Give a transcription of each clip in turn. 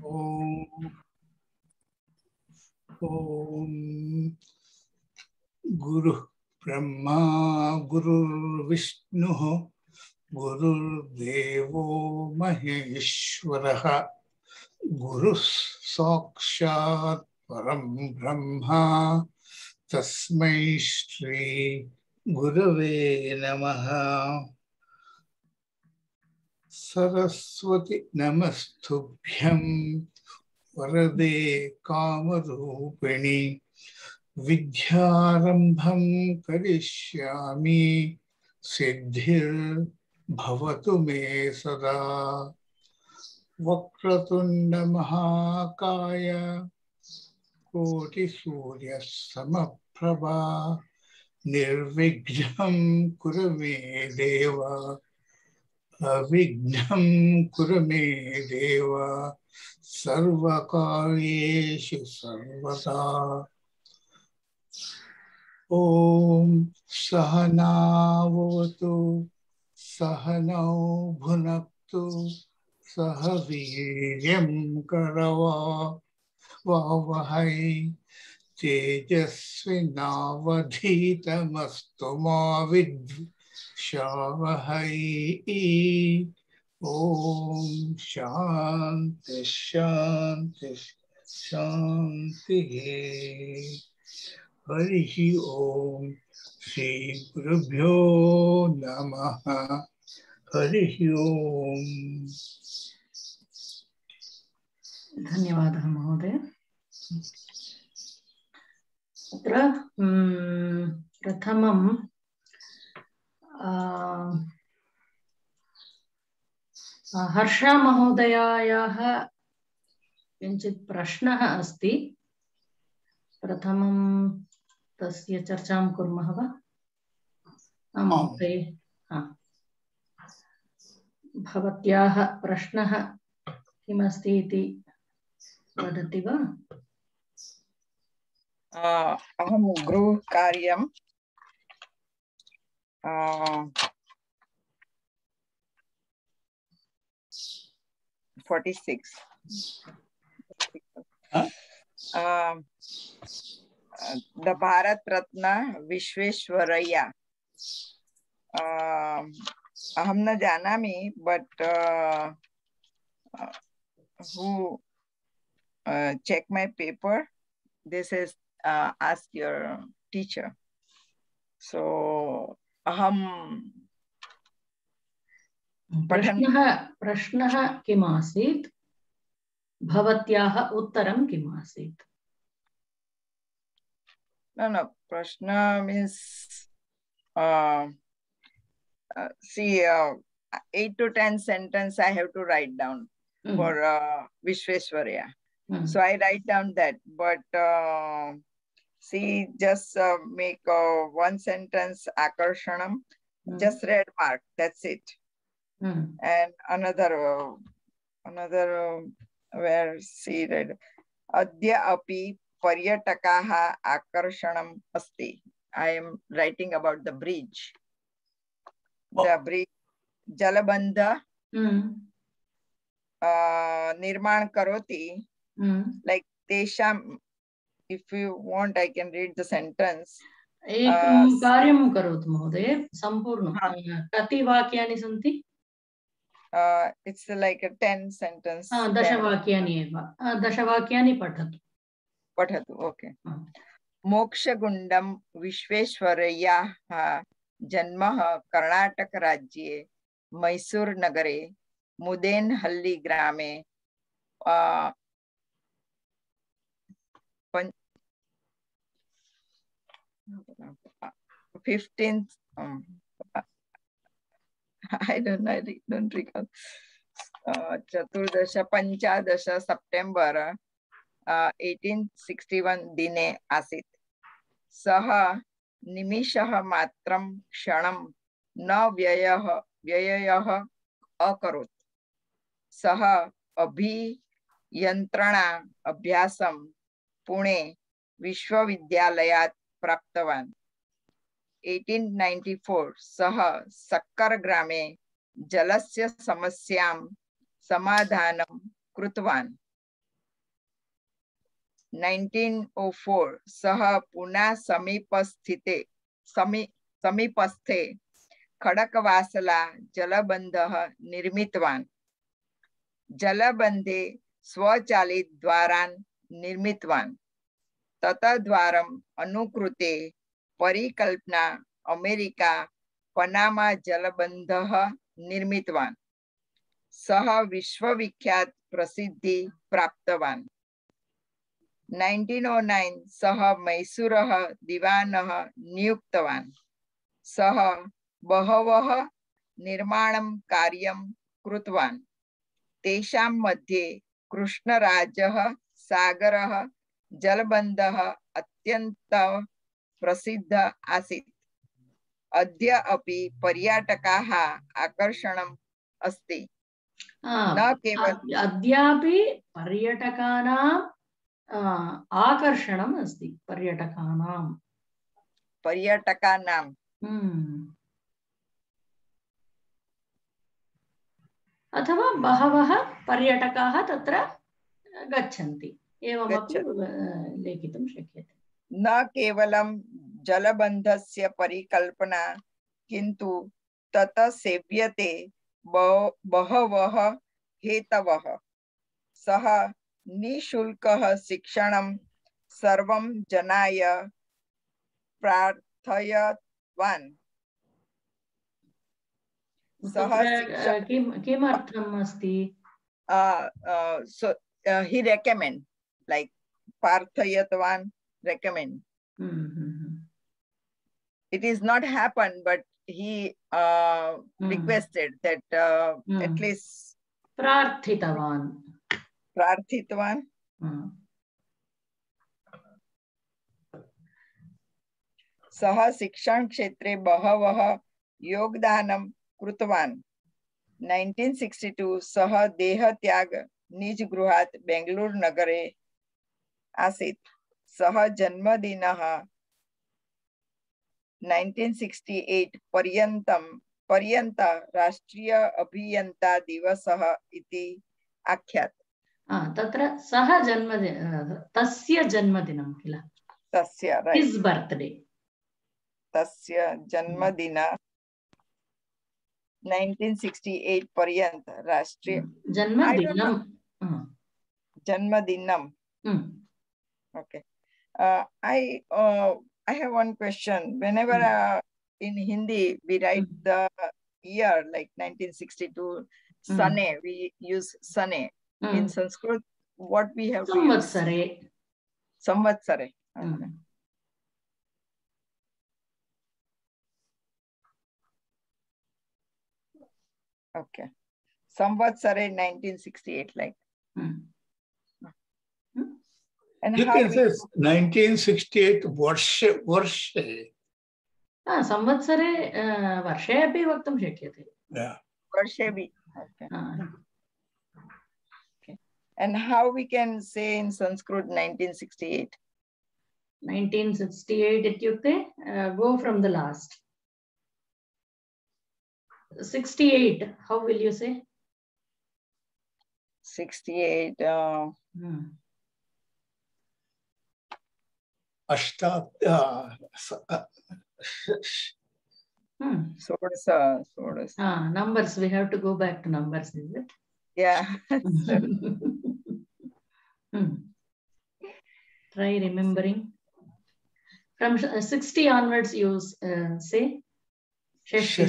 ओम ओम गुरु ब्रह्मा गुरुर्विष्णुः गुरुर्देवो महेश्वरः गुरुः साक्षात् परं ब्रह्मा तस्मै श्री गुरवे नमः। सरस्वती नमस्तुभ्यं वरदे कामरूपिणि विद्यारंभं करिष्यामि सिद्धिर्भवतु मे सदा। वक्रतुंड महाकाय कोटिसूर्यसमप्रभा निर्विघ्नं कुरु मे देव अविघ्नं कुरु मे देव सर्वकार्येषु सर्वदा। ओम सहनावतु सहनौ भुनक्तु सह वीर्यं करवावहै तेजस्विनावधीतमस्तु मा विद्विषावहै। ओम शांति शांति शांति। हरि ओम श्री गुरुभ्यो नमः। हरि ओम। धन्यवादः महोदय। अत्र प्रथमं हर्षा महोदयायाः किञ्चित् प्रश्नः अस्ति। प्रथमं तस्य चर्चां कुर्मः वा? महोदय, भवत्याः प्रश्नः किमस्ति इति वदति वा? अहं गृहकार्यं 46 the Bharat Ratna Vishveshwaraya aham na janami but who check my paper, this is ask your teacher. So aham प्रश्नः किम् आसीत्? भवत्याः उत्तरं किम् आसीत्? No, prashna means see 8 to 10 sentence I have to write down for Vishveshwaraya. So I write down that, but see just make one sentence akarshanam, just red mark, that's it. And another where see that adya api paryatakaha akarshanam asti. I am writing about the bridge. The bridge jalabandha nirman karoti, like tesham. If you want I can read the sentence. एकं कार्यं करोतु महोदय, सम्पूर्णं कति वाक्यानि सन्ति? It's like a 10 sentence. 10 वाक्यानि एव। 10 वाक्यानि पठतु। Okay. मोक्षगुण्डं विश्वेश्वरय्याः जन्मः कर्णाटक राज्ये मैसूर नगरे मुदेनहल्ली ग्रामे 15th I don't recall. चतुर्दश पंचादश सेप्टेम्बर 1861 दिने आसीत्। सः निमिषः मात्रं क्षणं न व्ययः अकरोत्। सः अभियन्त्रणा अभ्यासं पुणे विश्वविद्यालयात् प्राप्तवान्। 1894 सः सक्कर ग्रामे जलस्य समस्यां समाधानं कृतवान्। 1904 सः पुनः समीपस्थे खडकवासला जलबन्धः निर्मितवान्। जलबन्धे स्वचालित द्वारान् निर्मितवान्। ततद्वारम् अनुकृते परिकल्पना अमेरिका पनामा जलबन्धः निर्मितवान्। सः विश्वविख्यात प्रसिद्धि प्राप्तवान्। 1909 सः मैसूरः दिवानः नियुक्तवान्। सः बहवः निर्माणं कार्यं कृतवान्। तेषां मध्ये कृष्णराजः सागरः जलबन्धः अत्यन्तं प्रसिद्धः आसीत्। अद्य अपि पर्यटकाः आकर्षणम् अस्ति। न केवल अद्यापि पर्यटकानां आकर्षणम् अस्ति। पर्यटकानां अथवा बहवः पर्यटकाः तत्र गच्छन्ति एवमपि लेखितुं शक्यते। न केवलं जलबन्धस्य परिकल्पना किन्तु ततः सेव्यते बहवः हेतवः। सः निःशुल्कः शिक्षणं सर्वं जनाय प्रार्थयतवान्। किमर्थम् अस्ति? So he recommend, like प्रार्थयतवान्, recommend. It is not happened, but he requested that at least प्रार्थितवान्. सः शिक्षण क्षेत्रे बहवः योगदानं कृतवान्। 1962 सः देहत्याग निज गृहात् बेंगलुरु नगरे आसीत्। सः जन्मदिनः 1968 पर्यन्त राष्ट्रीय अभियन्ता दिवसः इति आख्यात्। तत्र सः तस्य जन्मदिनं किल? तस्य his birthday. तस्य जन्मदिन 1968 पर्यन्त राष्ट्रीय जन्मदिनम. Okay. I have one question. Whenever in Hindi we write the year like 1962 Sane, we use Sane. In Sanskrit, what we have to use? Samvatsare. Okay. Okay. Samvatsare 1968, like. And you can say 1968 Varshe. संवत्सरे वर्षे अपि वक्तुं शक्यते. Yeah. Varshe bhi. Okay. Okay. And how we can say in Sanskrit 1968? 1968 ityukte go from the last. 68, how will you say? 68. Numbers, we have to go back to numbers, is it? Yeah. Try remembering. From 60 onwards, you say? Is it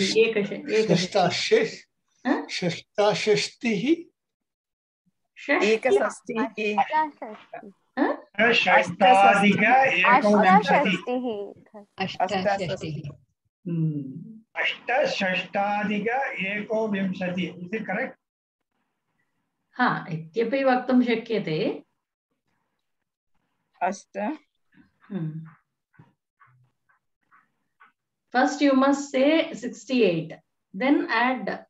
correct? हाँ, इत्यपि वक्तुं शक्यते. First you must say 68, then add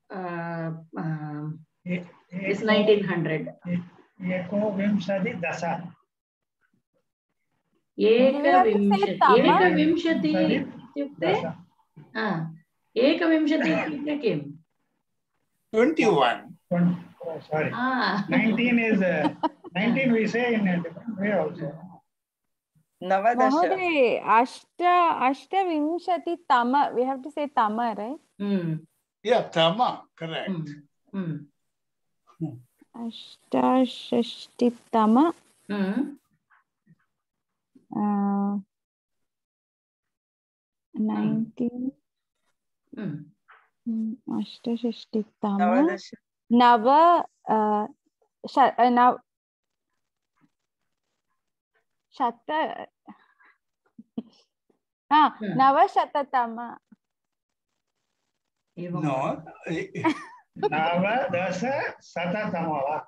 this 1900. एकविंशति इत्युक्ते किम्? 21. Sorry. 19 is 19 we say in a different We also. Navadasha. Mahoday, Ashtavinshati Tama. We have to say Tama, right? Yeah, Tama, correct. Ashtashashti Tama. 19. Ashtashashti Tama. Nava. Shata. Navashatatama. No. Navadasha Satatama.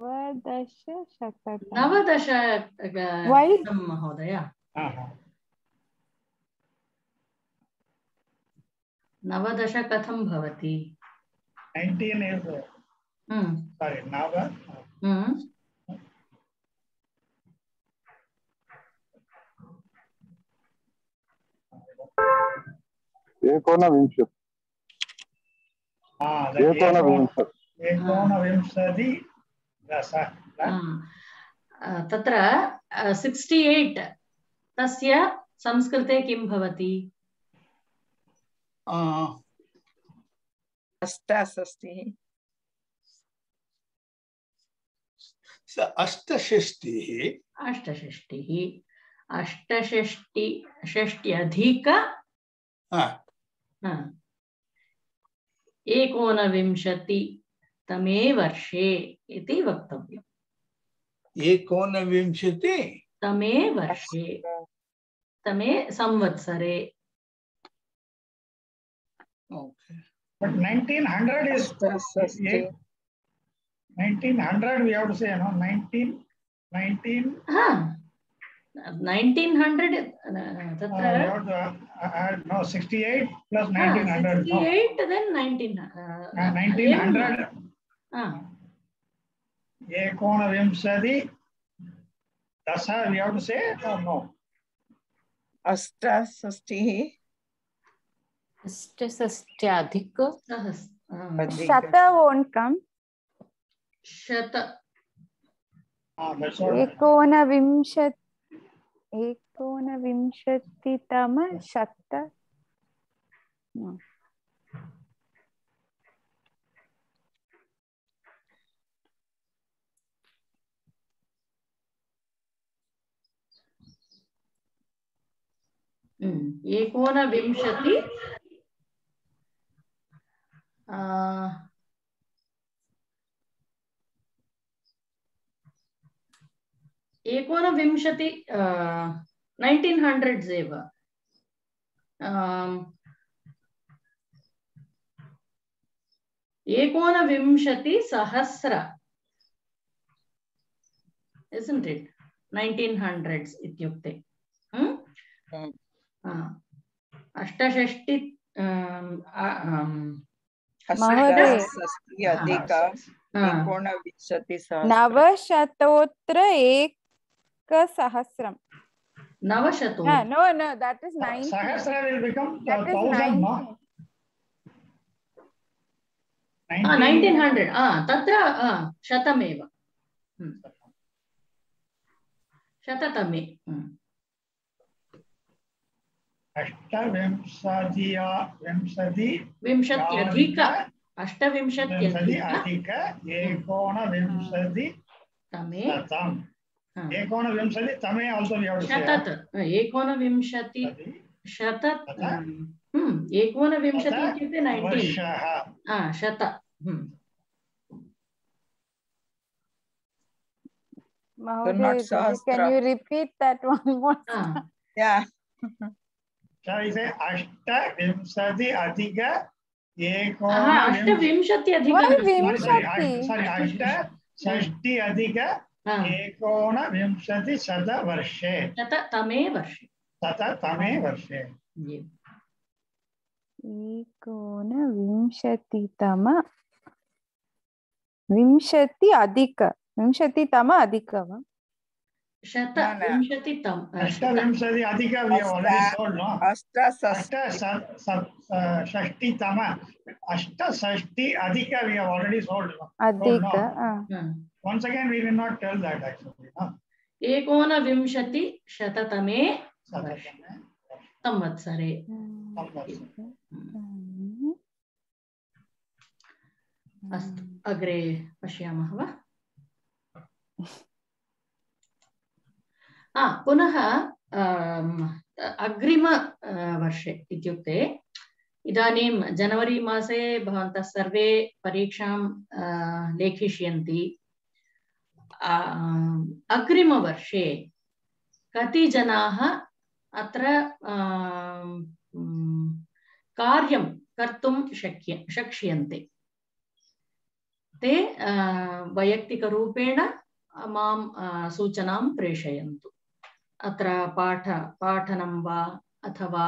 Navadasha Shatatama. Navadasha. Why? Mahodaya. Navadasha katham bhavati. 19 is. Sorry, Nava. एकोनविंशति दश तत्र 68 तस्य संस्कृते किं भवति? अष्टाषष्टिः षष्ट्यधिक 19 तमे वर्षे इति वक्तव्यम्। 19 तमे वर्षे तमे संवत्सरे। Okay. But 1900 is 1900 we have to say, no? 1900 no 68 plus 1900 68 then 1900 एकोनविंशति दश we have to say or no? अष्टाषष्टिः अष्टषष्ट्याधिक Shata won't come. Shata. एकोनविंशतितम शत. No. एकोनविंशति एकोनविंशति 1900s एव एकोनविंशतिसहस्र isn't it 1900s इत्युक्ते अष्टषष्टि नवशतोत्तर एकसहस्रम. Navashato. No, that is 90. Sahasra will become that 1000, no? 1900. Tatra shatameva. Shatatame. विंशत्यधिक अष्टविंशत्यधिक एकोनविंशति एकोनविंशति तमे also we have to say एकोनविंशति शत एकोनविंशति इत्युक्ते 90 शत Mahoday, can you repeat that one more time? Yeah. Shall I say अष्टविंशति अधिक अष्टविंशति अधिक sorry अष्टषष्टि अधिक एकोनविंशति शतवर्षे शततमे वर्षे एकोनविंशतितम विंशतितम अधिक वा शतविंशतितम अष्टविंशति अधिक we have already told, no? अष्टषष्टितम अष्टषष्टि अधिक we have already told, no? अधिक Once again, we will not tell that actually. No? 1920-शततमे संवत्सरे. अस्तु, अग्रे पश्यामः वा? पुनः अग्रिम वर्षे इत्युक्ते इदानीं जनवरी मासे भवन्तः सर्वे परीक्षां लेखिष्यन्ति. अग्रिमवर्षे कति जनाः अत्र कार्यं कर्तुं शक्ष्यन्ते? ते वैयक्तिकरूपेण मां सूचनां प्रेषयन्तु. अत्र पाठनं वा अथवा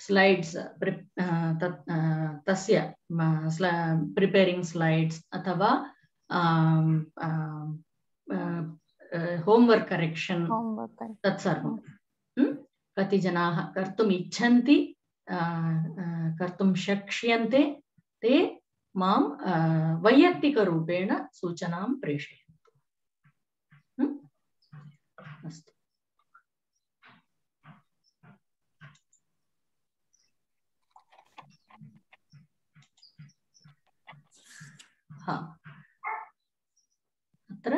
स्लाइड्स तस्य प्रिपेरिंग स्लाइड्स अथवा होमवर्क करेक्शन तत्सर्वं कति जनाः कर्तुम् इच्छन्ति, कर्तुं शक्ष्यन्ते, ते मां वैयक्तिकरूपेण सूचनां प्रेषयन्तु. अस्तु. अत्र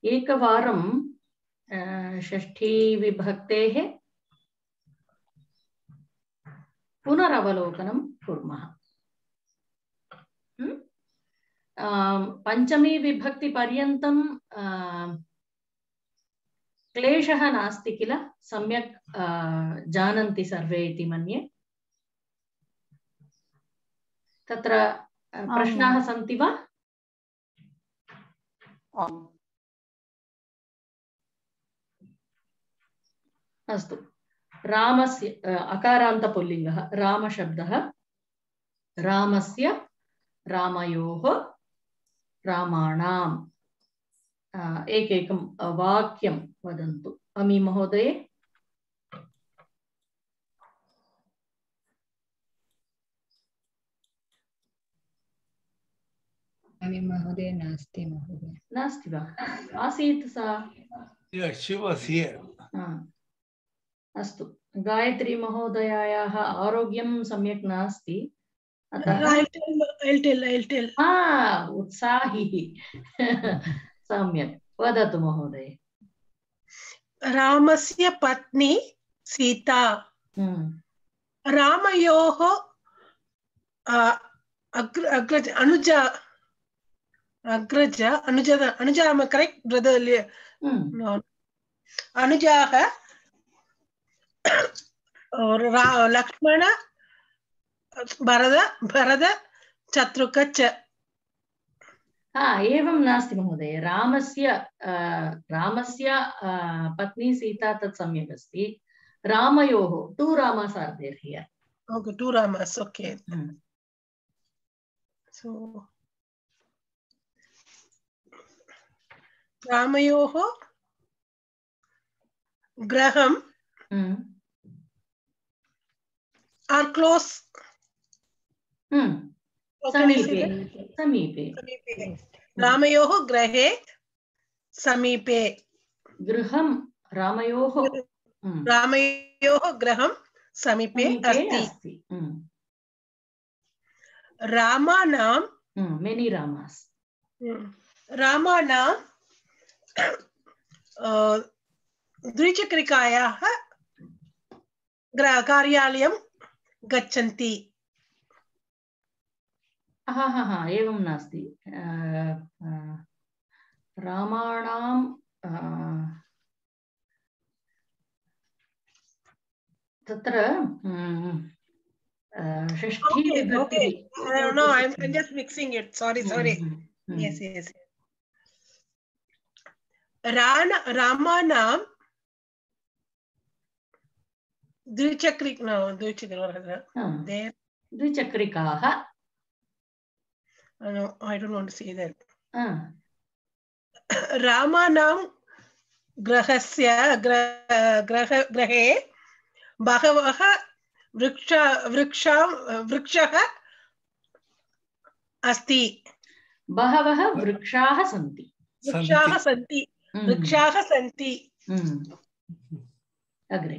एकवारं षष्ठी विभक्तेः पुनरवलोकनं कुर्मः. पंचमी विभक्ति पर्यन्तं क्लेशः नास्ति किल? सम्यक् जानन्ति सर्वे इति मन्ये. तत्र प्रश्नाः सन्ति वा? अस्तु. रामस्य अकारान्तपुल्लिङ्गः रामशब्दः, रामस्य, रामयोः, रामाणाम्. एकैकं वाक्यं वदन्तु. अमी महोदये. अमी महोदय नास्ति. महोदय नास्ति वा? आसीत् सा. She was here. अस्तु. गायत्री महोदयायाः आरोग्यं सम्यक् नास्ति. I'll tell. उत्साही. सम्यक् वदतु महोदय. रामस्य पत्नी सीता, रामयोः अनुजा am I correct brother? No. अनुजाः लक्ष्मण भरत शत्रुघ्न च. एवं नास्ति महोदय. रामस्य पत्नी सीता तत् सम्यक् अस्ति. रामयोः two Ramas are there here. Okay, two Ramas. Okay. So रामयोः गृहं are close. समीपे. रामयोः गृहे समीपे. गृहं रामयोः गृहं समीपे अस्ति. रामानां मेनी रामास्. रामानां द्विचक्रिकायाः कार्यालयं गच्छन्ति. एवं नास्ति. रामाणां तत्र षष्ठी विभक्ति. No, I'm just mixing it. Sorry. Yes. रामानां द्विचक्रिकाः. No, I don't want to say that. रामानां गृहे बहवः वृक्षः अस्ति बहवः वृक्षाः सन्ति वृक्षाः सन्ति वृक्षाः सन्ति अग्रे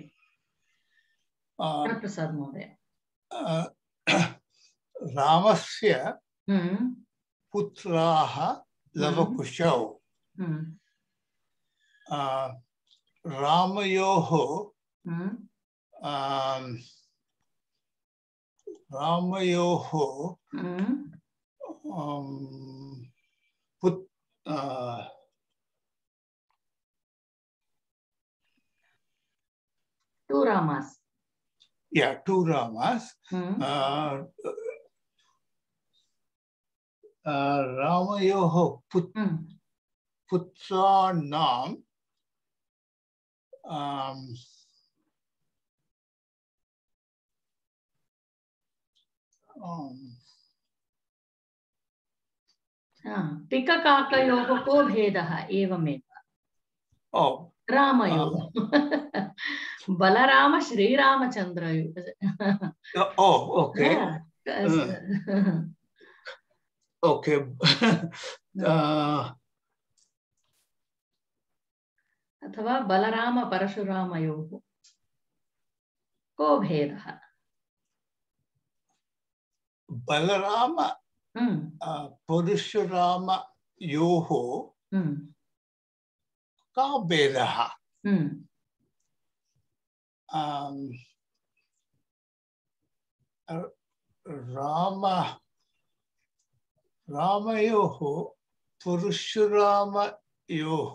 प्रसाद महोदय रामस्य पुत्राः लवकुशौ रामयोः two Ramas. Yeah, two Ramas. Ramayoho putranam पिककाकयोः को भेदः एवमेव रामयोः बलराम श्रीरामचन्द्रयोः okay okay अथवा बलराम परशुरामयोः को भेदः बलराम परशुरामयोः का भेदः रामयोः परशुरामयोः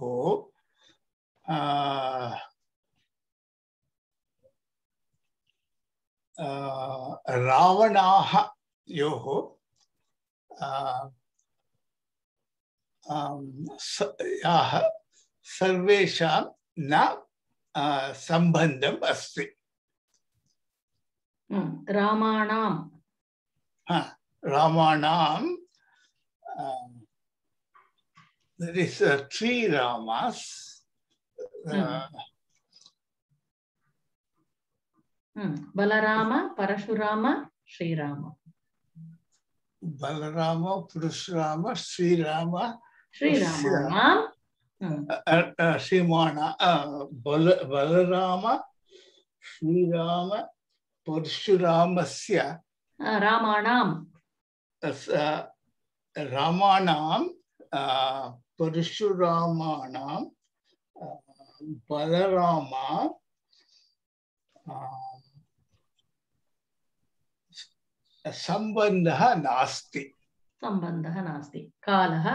रावणाः योः सर्वेषां न सम्बन्धम् अस्ति रामाणां there is three Ramas Balram Parashurama Shriram Balram Parashurama Shriram Balram Shriram परशुरामस्य रामाणां परशुरामाणां Balram सम्बन्धः नास्ति कालः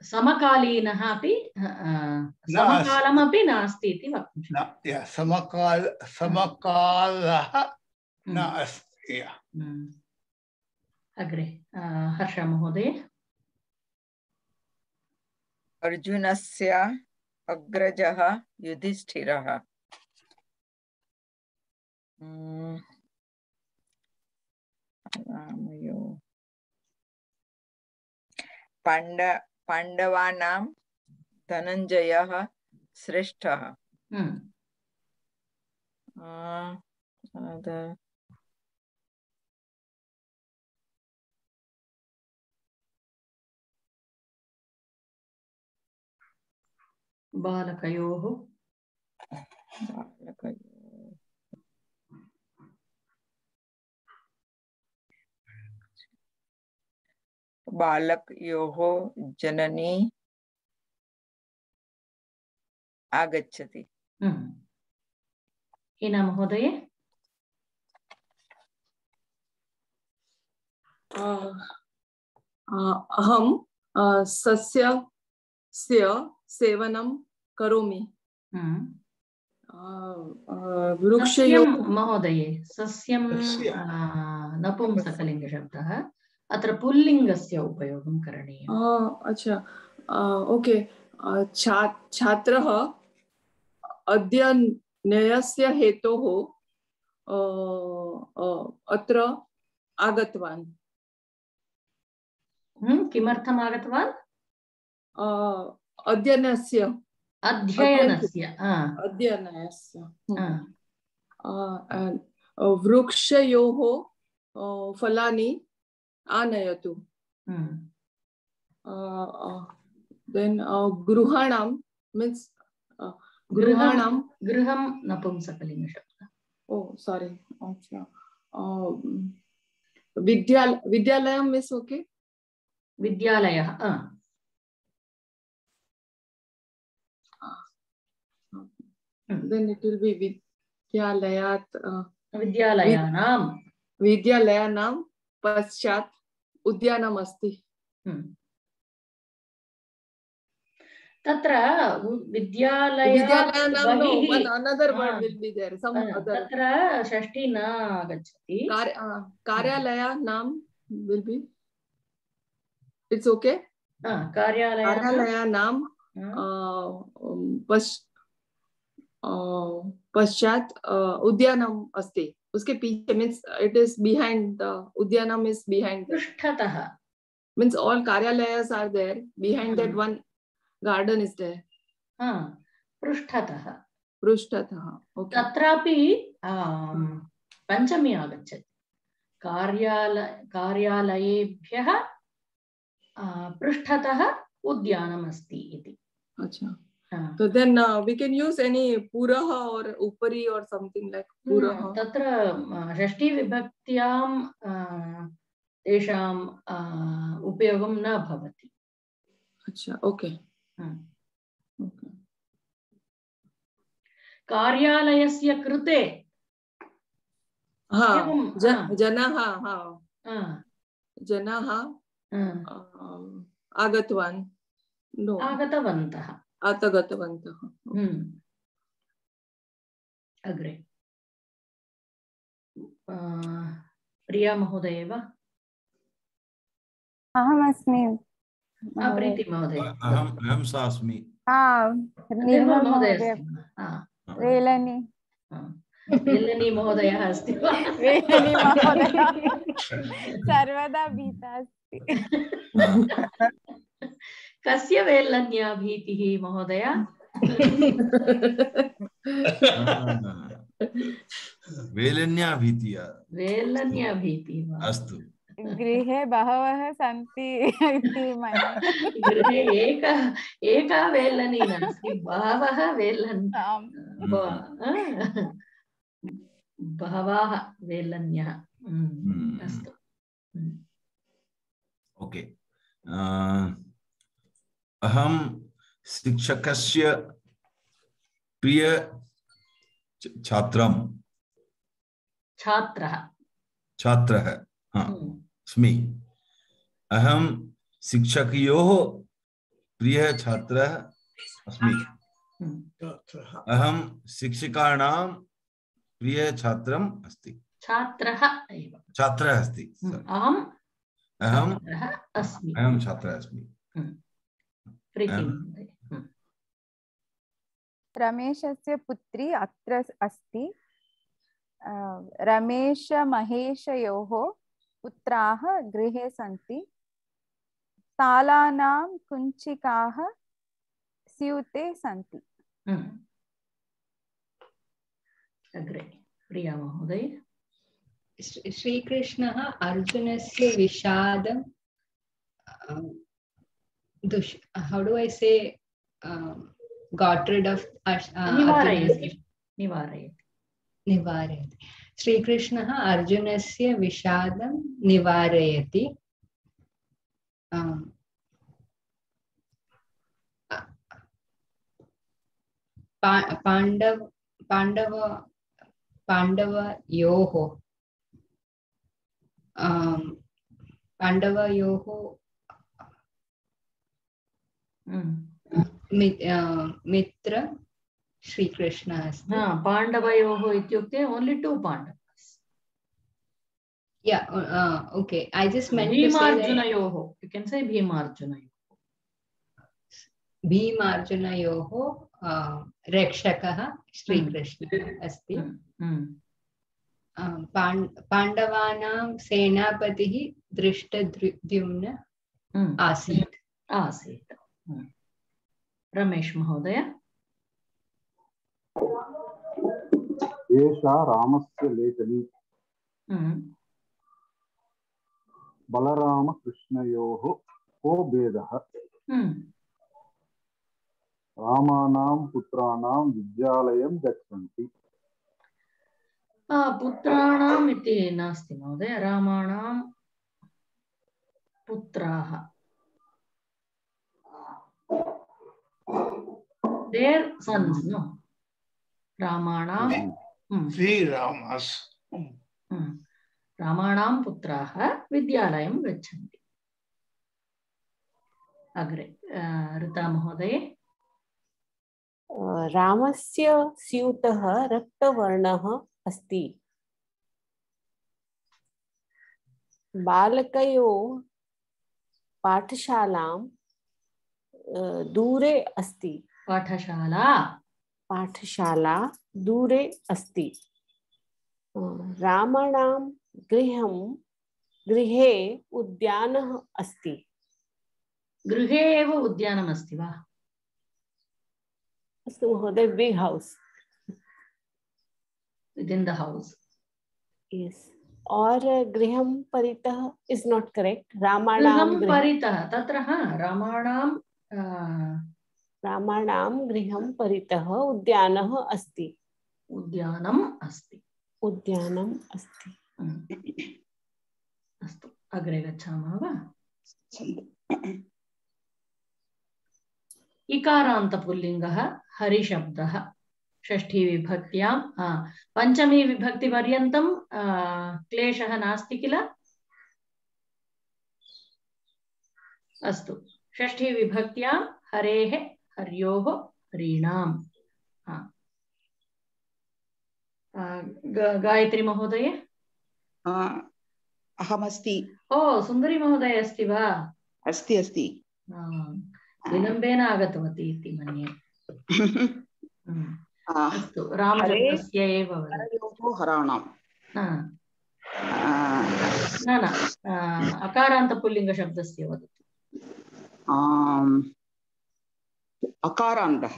समकालीनः अपि समकालमपि नास्ति इति वक्तुं शक्यते समकालः न अस्ति अग्रे हर्ष महोदय अर्जुनस्य अग्रजः युधिष्ठिरः पाण्डवानां धनञ्जयः श्रेष्ठः बालकयोः बालकयोः जननी आगच्छति हिना महोदय अहं सस्यस्य सेवनं करोमि वृक्षयोः महोदये सस्यं नपुंसकलिङ्गशब्दः अत्र पुल्लिङ्गस्य उपयोगं करणीयम् अच्छा ओके छात्रः अध्ययनस्य हेतोः अत्र आगतवान् किमर्थम् आगतवान् अध्ययनस्य वृक्षयोः फलानि आनयतु. Then गृहाणां means गृहाणां गृहं नपुंसकलिङ्ग शब्दः. Oh, sorry. अच्छा. विद्यालयं is okay. विद्यालयः. Then it will be विद्यालयात्. विद्यालयानां पश्चात् उद्यानम् अस्ति. तत्र विद्यालयानां another word will be there. Some other. तत्र षष्ठी न आगच्छति. कार्यालयानां will be. It's okay. कार्यालयानां पश्चात् उद्यानम् अस्ति. उसके पीछे means it is behind the udyanam is behind. पृष्ठतः means all karyalayas are there. Behind that one garden is there. पृष्ठतः. Okay. तत्रापि पञ्चमी आगच्छति. कार्यालयेभ्यः पृष्ठतः उद्यानम् अस्ति इति. अच्छा. So then we can use any puraha or upari or something like puraha. तत्र षष्ठी विभक्त्यां तेषां उपयोगं न भवति. अच्छा. Okay. Okay. कार्यालयस्य कृते जनाः आगतवन्तः. अग्रे प्रिया महोदय वा? अहमस्मि. प्रीति महोदय. अहं सा अस्मि. निर्मल महोदय. वेलनी महोदयः अस्ति वा? वेलनी महोदय सर्वदा भीता अस्ति. कस्य वेलन्या भीतिः महोदय? वेलन्या भीतिः. वेलन्या भीतिः अस्तु. गृहे बहवः सन्ति इति मन्ये. गृहे एका वेलनी नास्ति, बहवः बहवः वेलन्यः. अस्तु. ओके. अहं शिक्षकस्य प्रिय छात्रः अस्मि. अहं शिक्षकयोः प्रिय छात्रः अस्मि. अहं शिक्षकाणां प्रिय छात्रम् अस्ति. छात्रः अस्ति. अहं छात्रः अस्मि. रमेशस्य पुत्री अत्र अस्ति. रमेश महेशयोः पुत्राः गृहे सन्ति. तालानां कुञ्चिकाः स्यूते सन्ति. अग्रे प्रिया महोदय. श्रीकृष्णः अर्जुनस्य विषादं how do I say got rid of निवारयति. श्रीकृष्णः अर्जुनस्य विषादं निवारयति. पाण्डवयोः मित्र श्रीकृष्ण अस्ति. पाण्डवयोः इत्युक्ते only two Pandavas. Yeah, okay. I just meant Bhimarjunayoः. You can say Bhimarjunayoः. भीमार्जुनयोः रक्षकः श्रीकृष्णः अस्ति. पाण्डवानां सेनापतिः धृष्टद्युम्न आसीत्. रमेश महोदय. एषा रामस्य लेखनी. बलरामकृष्णयोः को भेदः? रामाणां पुत्राणां विद्यालयं गच्छन्ति। पुत्राणाम् इति नास्ति महोदय, रामाणां पुत्राः, their sons, no? रामाणां रामाणां पुत्राः विद्यालयं गच्छन्ति। अग्रे ऋता महोदये। रामस्य स्यूतः रक्तवर्णः अस्ति। बालकयोः पाठशालां दूरे अस्ति। पाठशाला दूरे अस्ति। रामाणां गृहे उद्यानः अस्ति। गृहे एव उद्यानम् अस्ति वा? अस्तु महोदय, big house within the house. Yes. और गृहं परितः is not correct. रामाणां परितः तत्र रामाणां गृहं परितः उद्यानः अस्ति। उद्यानम् अस्ति। अस्तु, अग्रे गच्छामः वा? इकारान्त पुल्लिङ्गः हरिशब्दः षष्ठी विभक्त्यां पंचमी विभक्ति पर्यन्तं क्लेशः नास्ति किल? अस्तु, षष्ठी विभक्त्यां हरेः हर्योः हरीणाम्। गायत्री महोदय। अहमस्ति। ओ, सुन्दरी महोदय अस्ति वा? अस्ति अस्ति। विलम्बेन आगतवती इति मन्ये। अस्तु, रामशब्दस्य एव हराणां न अकारान्तपुल्लिङ्गशब्दस्य वदतु। अकारान्तः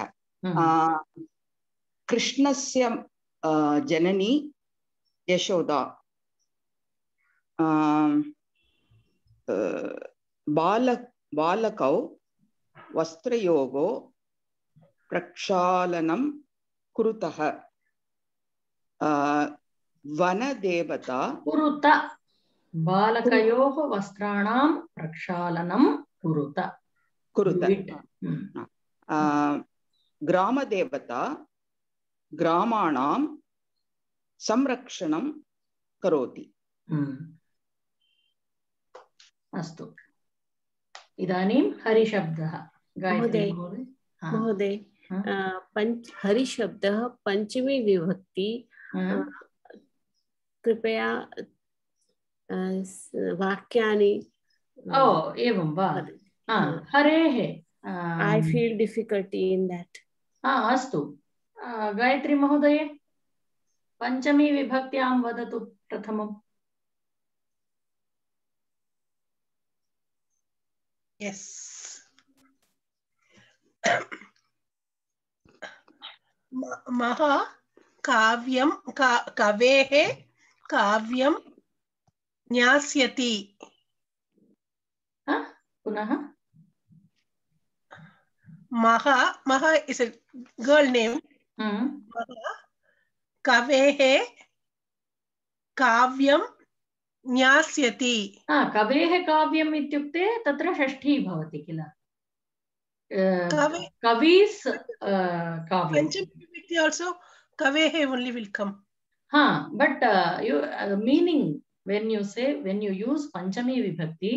कृष्णस्य जननी यशोदा। बालकौ वस्त्रयोगो प्रक्षालनं कुरुतः। वनदेवता कुरुत। बालकयोः वस्त्राणां प्रक्षालनं कुरुत। ग्रामदेवता ग्रामाणां संरक्षणं करोति। अस्तु, इदानीं हरिशब्दः। महोदय, हरिशब्दः पंचमी विभक्ति। कृपया वाक्यानि। एवं वा? हरेः। I feel difficulty in that. अस्तु, गायत्री महोदय पंचमी विभक्त्यां वदतु प्रथमम्। Yes. महा काव्यं कवेः काव्यं न्यास्यति। पुनः Maha is a girl name. Maha kavehe kavyam न्यास्यति। कवेः काव्यम् इत्युक्ते तत्र षष्ठी भवति किल? कवीस् काव्यं। पंचमी विभक्ति also kavehe only will come. But meaning when you use panchami vibhakti,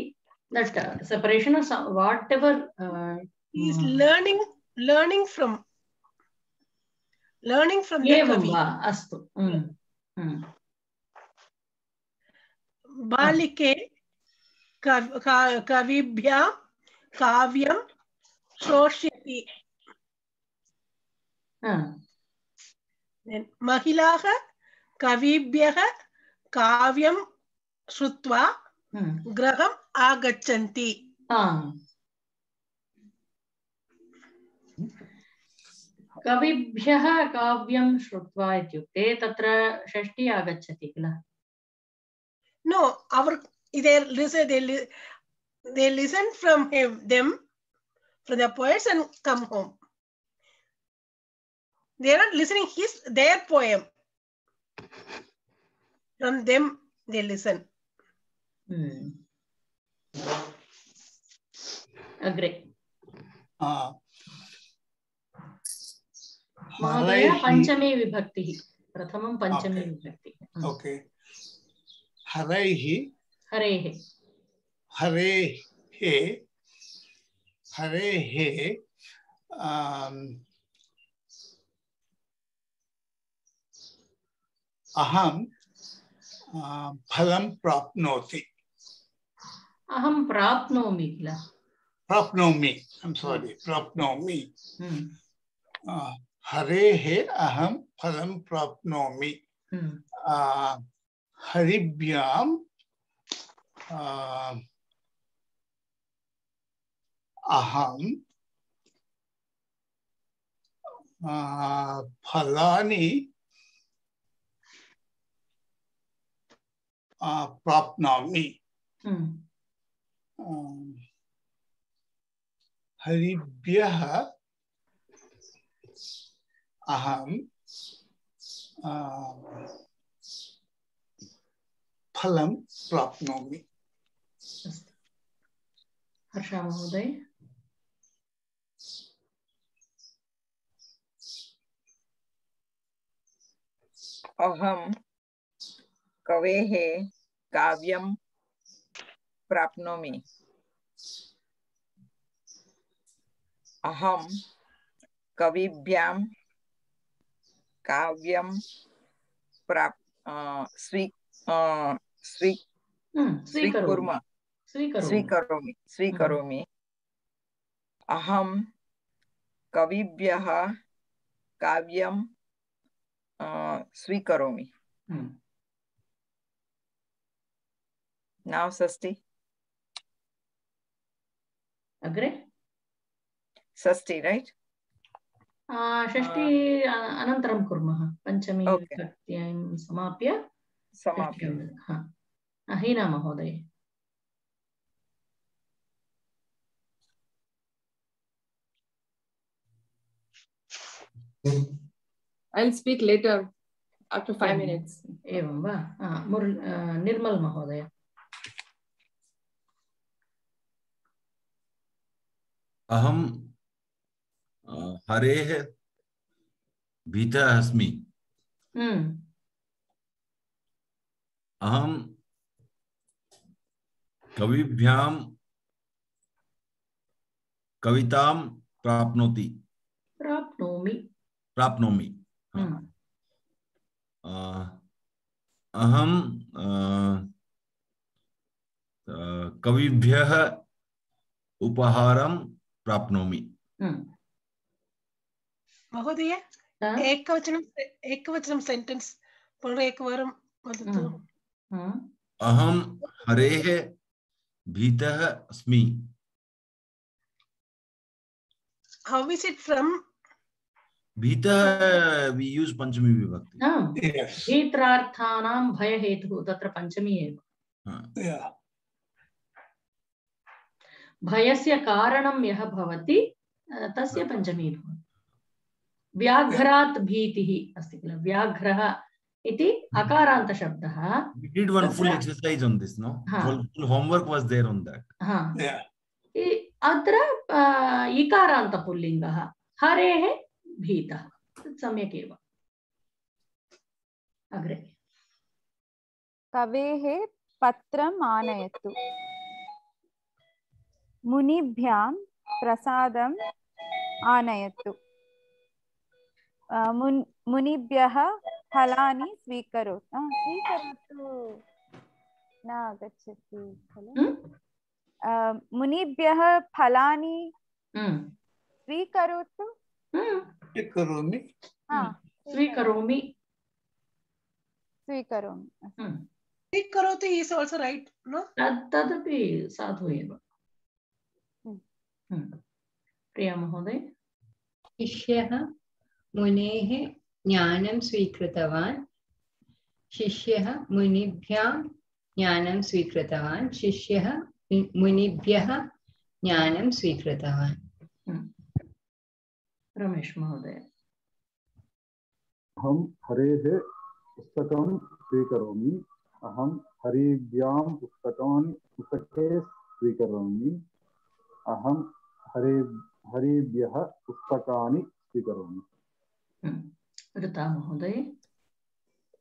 that separation of whatever he is learning from the kavi. Astu. बालिके कविभ्यां काव्यं श्रोष्यति। महिलाः कविभ्यः काव्यं श्रुत्वा गृहम् आगच्छन्ति। कविभ्यः काव्यं श्रुत्वा इत्युक्ते तत्र षष्ठी आगच्छति किल? No, our they listen from them, from the poets, and come home. They are not listening their poem. From them, they listen. Agree. महोदय पंचमी विभक्ति प्रथमं पंचमी विभक्ति. Okay. हरैः हरेः हरेः हरेः अहं फलं प्राप्नोति. अहं प्राप्नोमि किल. प्राप्नोमि. I'm sorry. प्राप्नोमि. हरेः अहं फलं प्राप्नोमि. हरिभ्यां अहं फलानि प्राप्नोमि. हरिभ्यः अहं फलं प्राप्नोमि. हर्षा महोदय. अहं कवेः काव्यं प्राप्नोमि. अहं कविभ्यां काव्यं स्वीकरोमि. अहं कविभ्यः काव्यं स्वीकरोमि. Now Sasti. Agree? Sasti, right? षष्ठी अनन्तरं कुर्मः. पञ्चमी विभक्त्यां समाप्य. हीना महोदय. I'll speak later after 5 minutes. एवं वा? निर्मल महोदय. अहं हरेः भीतः अस्मि. अहं कविभ्यां कवितां प्राप्नोमि. अहं कविभ्यः उपहारं प्राप्नोमि. महोदय एकवचनं सेंटेंस पुनरेकवारं वदतु. अहं हरेः भीतः अस्मि. How is it from? भीतः we use पंचमी विभक्ति. भीत्रार्थानां भयहेतुः तत्र पंचमी एव. भयस्य कारणं यः भवति तस्य पंचमी भवति. व्याघ्रात् भीतिः अस्ति किल. व्याघ्रः इति अकारान्त शब्दः. We did one full exercise on this, no? Full homework was there on that. अत्र इकारान्त पुल्लिङ्गः. हरेः भीतः. सम्यक् एव. अग्रे. कवेः पत्रम् आनयतु. मुनिभ्यां प्रसादम् आनयतु. मुनिभ्यः फलानि स्वीकरोतु. न आगच्छति खलु. मुनिभ्यः फलानि स्वीकरोतु. स्वीकरोमि. स्वीकरोति is also right, no? तदपि साधु एव. प्रिया महोदय. शिष्यः मुनेः ज्ञानं स्वीकृतवान्. शिष्यः मुनिभ्यां ज्ञानं स्वीकृतवान् शिष्यः मुनिभ्यः ज्ञानं स्वीकृतवान् रमेश महोदय अहं हरेः पुस्तकं स्वीकरोमि अहं हरिभ्यां पुस्तके स्वीकरोमि अहं हरिभ्यः पुस्तकानि स्वीकरोमि ऋता महोदय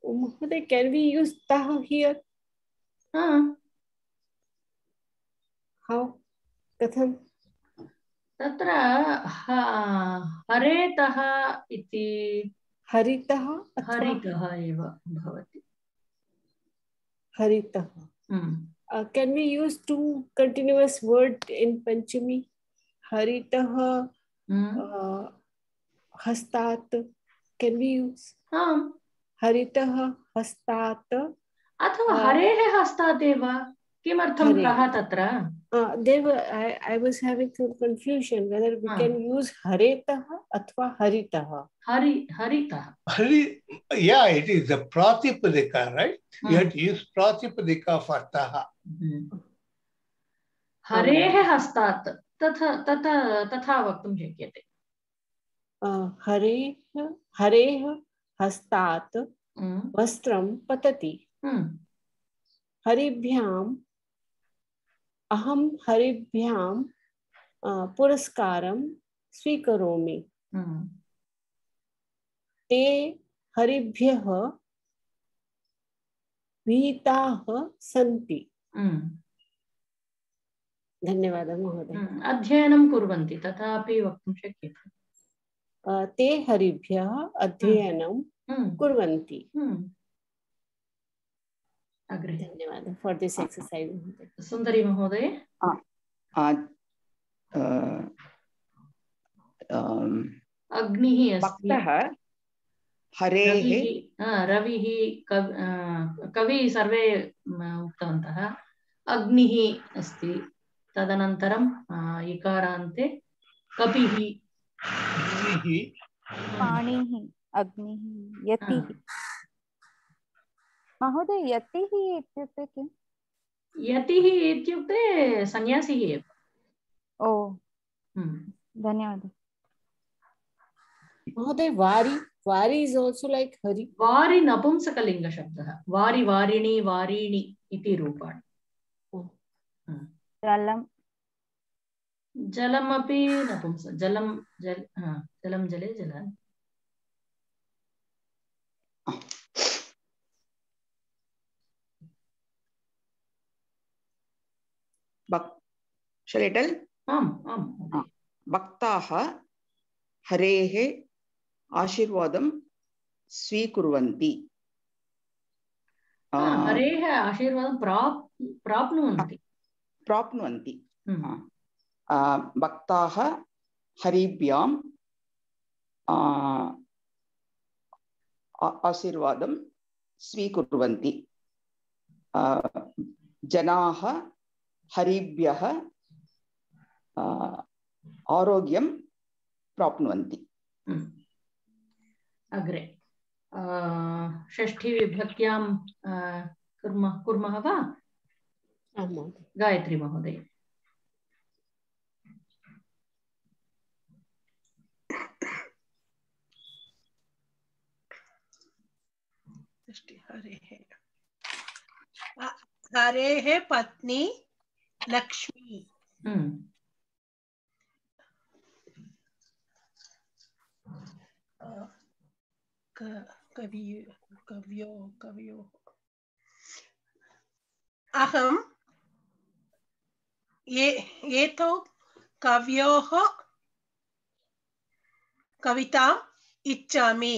महोदय can we use tah here how कथं तत्र हरेतः इति हरितः एव भवति हरितः can we use two continuous word in Panchami haritah hastat can we use haritah hastat अथवा हरेः हस्तात् एव किमर्थं तः तत्र I was having some confusion whether we can use haretah athva haritah haritah yeah, it is the pratipadika, right? You have to use pratipadika for taha. हरेः हस्तात् तथा वक्तुं शक्यते हरेः हस्तात् वस्त्रं पतति हरिभ्याम् अहं हरिभ्यां पुरस्कारं स्वीकरोमि ते हरिभ्यः भीताः सन्ति धन्यवादः महोदय अध्ययनं कुर्वन्ति तथापि वक्तुं शक्यते ते हरिभ्यः अध्ययनं कुर्वन्ति धन्यवादः फॉर दिस एक्सरसाइज सुंदरी महोदय अग्निः अस्ति हरेः रविः कवि सर्वे उक्तवन्तः अग्निः अस्ति तदनन्तरं इकारान्ते कपिः पाणिः अग्निः यतिः महोदय यतिः इत्युक्ते किम् यतिः इत्युक्ते सन्यासी एव ओ धन्यवादः महोदय वारी is also like hari वारी नपुंसकलिंग शब्दः वारी वारिणी वारीणि इति रूपाणि जलमपि नपुंस जलं जले जलानि Shall I tell? भक्ताः हरेः आशीर्वादं स्वीकुर्वन्ति हरेः आशीर्वादं प्राप्नुवन्ति भक्ताः हरिभ्यां आशीर्वादं स्वीकुर्वन्ति जनाः हरिभ्यः आरोग्यं प्राप्नुवन्ति अग्रे षष्ठी विभक्त्यां कुर्मः वा गायत्री महोदय हरेः पत्नी लक्ष्मी कव्यो अहं एतौ कव्योः कविताम् इच्छामि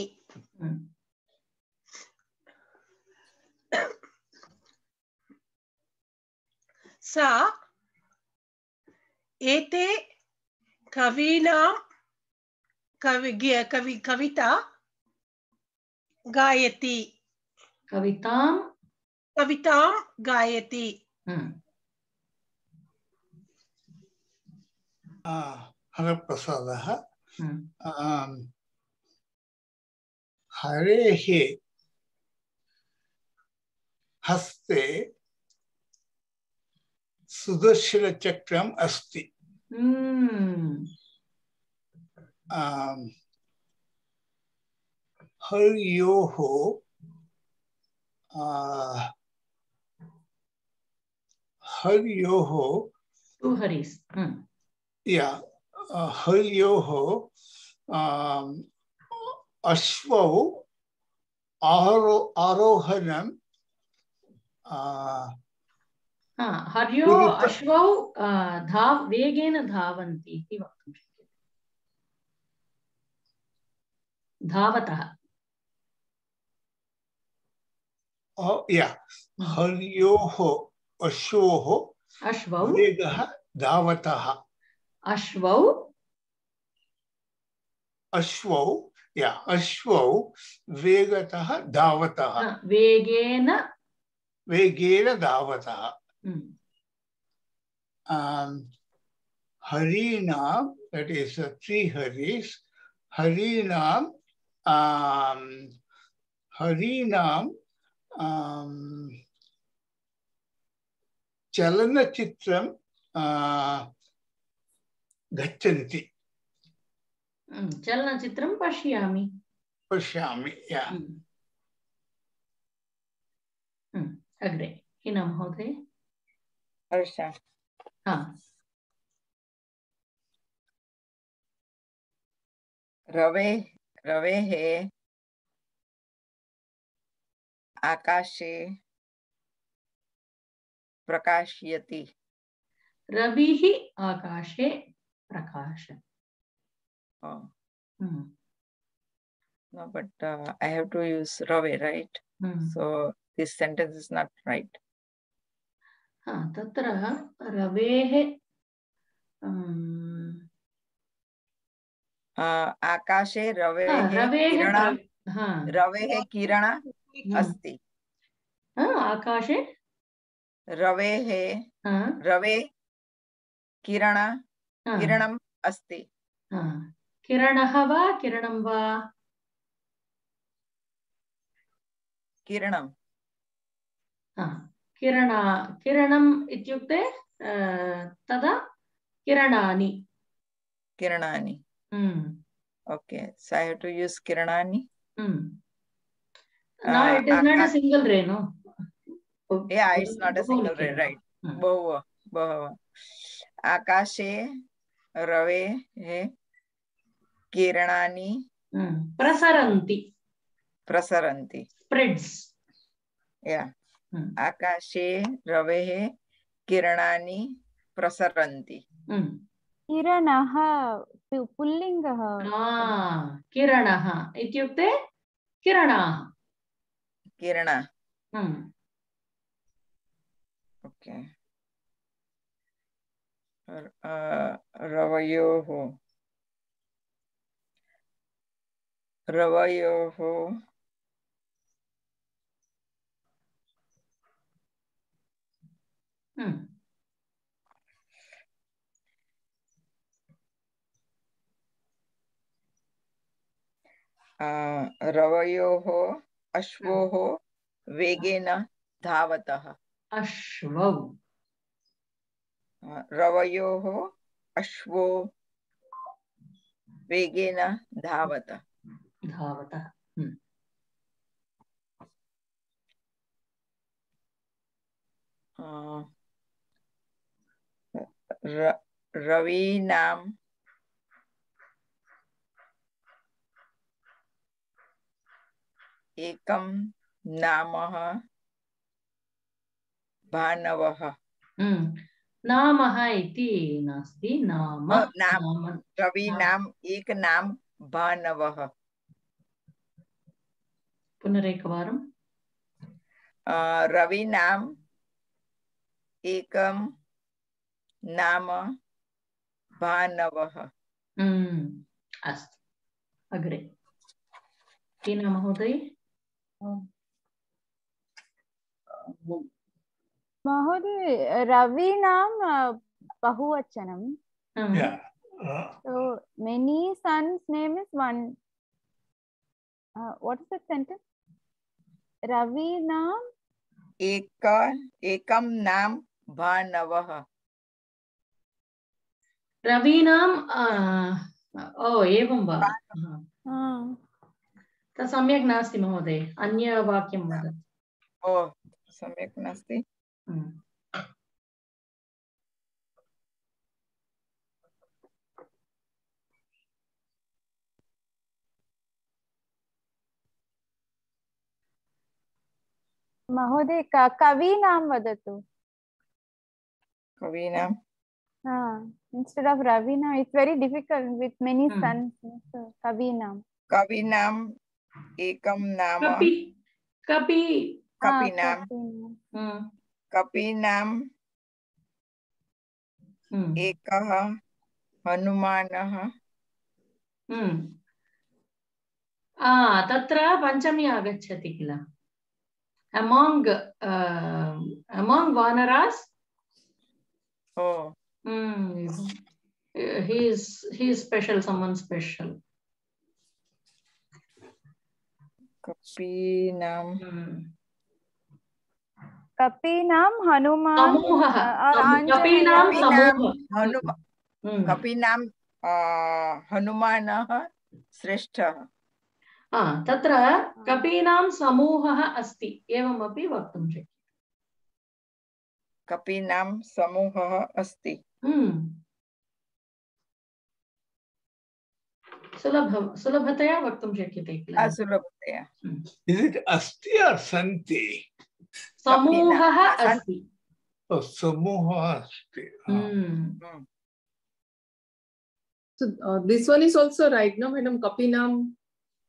सा एते कवीनां कविता गायति कवितां गायति हरप्रसादः हरेः हस्ते सुदर्शनचक्रम् अस्ति हर्योः हर्योः हर्योः अश्वौ आरोहणं हर्यो अश्वौ वेगेन धावन्ति इति वक्तुं शक्यते धावतः हर्योः अश्वौ वेगः धावतः अश्वौ वेगतः धावतः वेगेन धावतः हरीणां that is three haris हरीणां चलनचित्रं गच्छन्ति चलनचित्रं पश्यामि अग्रे हिना महोदय रवेः आकाशे प्रकाशयति रविः आकाशे प्रकाशति No, but I have to use Rave, right? So this sentence is not right. तत्र रवेः आकाशे रवेः किरण अस्ति आकाशे रवे किरणम् अस्ति किरणः वा किरणं वा किरणं किरणम् इत्युक्ते तदा किरणानि okay, so I have to use kiranani. No, it is not a single ray, no? Yeah, it's not a single ray, right? Bahava. Akashe rave kiranani prasaranti. Spreads. Yeah. Akashe rave kiranani prasaranti. किरणः पुल्लिङ्गः किरणः इत्युक्ते किरणः okay रवयोः रवयोः अश्वोः वेगेन धावतः रवयोः अश्वो वेगेन धावतः रवीनां एकं नाम भानवः नामः इति नास्ति नाम रवीनाम् एक नाम भानवः पुनरेकवारं रवीनाम् एकं नाम भानवः अस्तु अग्रे टीना महोदय महोदय रवीनां बहुवचनं so many sons name is one what is the sentence रवीनां एकं नाम भानवः रवीणां ओ एवं वा तत् सम्यक् नास्ति महोदय अन्य वाक्यं वदतु ओ सम्यक् नास्ति महोदय कवीनां वदतु कवीनां instead of Ravina it's very difficult with many sons so कवीनां एकं नाम कपीनां एकः हनुमानः तत्र पञ्चमी आगच्छति किल among vanaras he is special someone special कपीनां Hanuman कपीनां हनुमानः श्रेष्ठः तत्र कपीनां समूहः अस्ति एवमपि वक्तुं शक्यते कपीनां समूहः अस्ति सुलभतया वक्तुं शक्यते किल सुलभतया Is it अस्ति or सन्ति समूहः अस्ति समूहः अस्ति So this one is also right now madam kapinam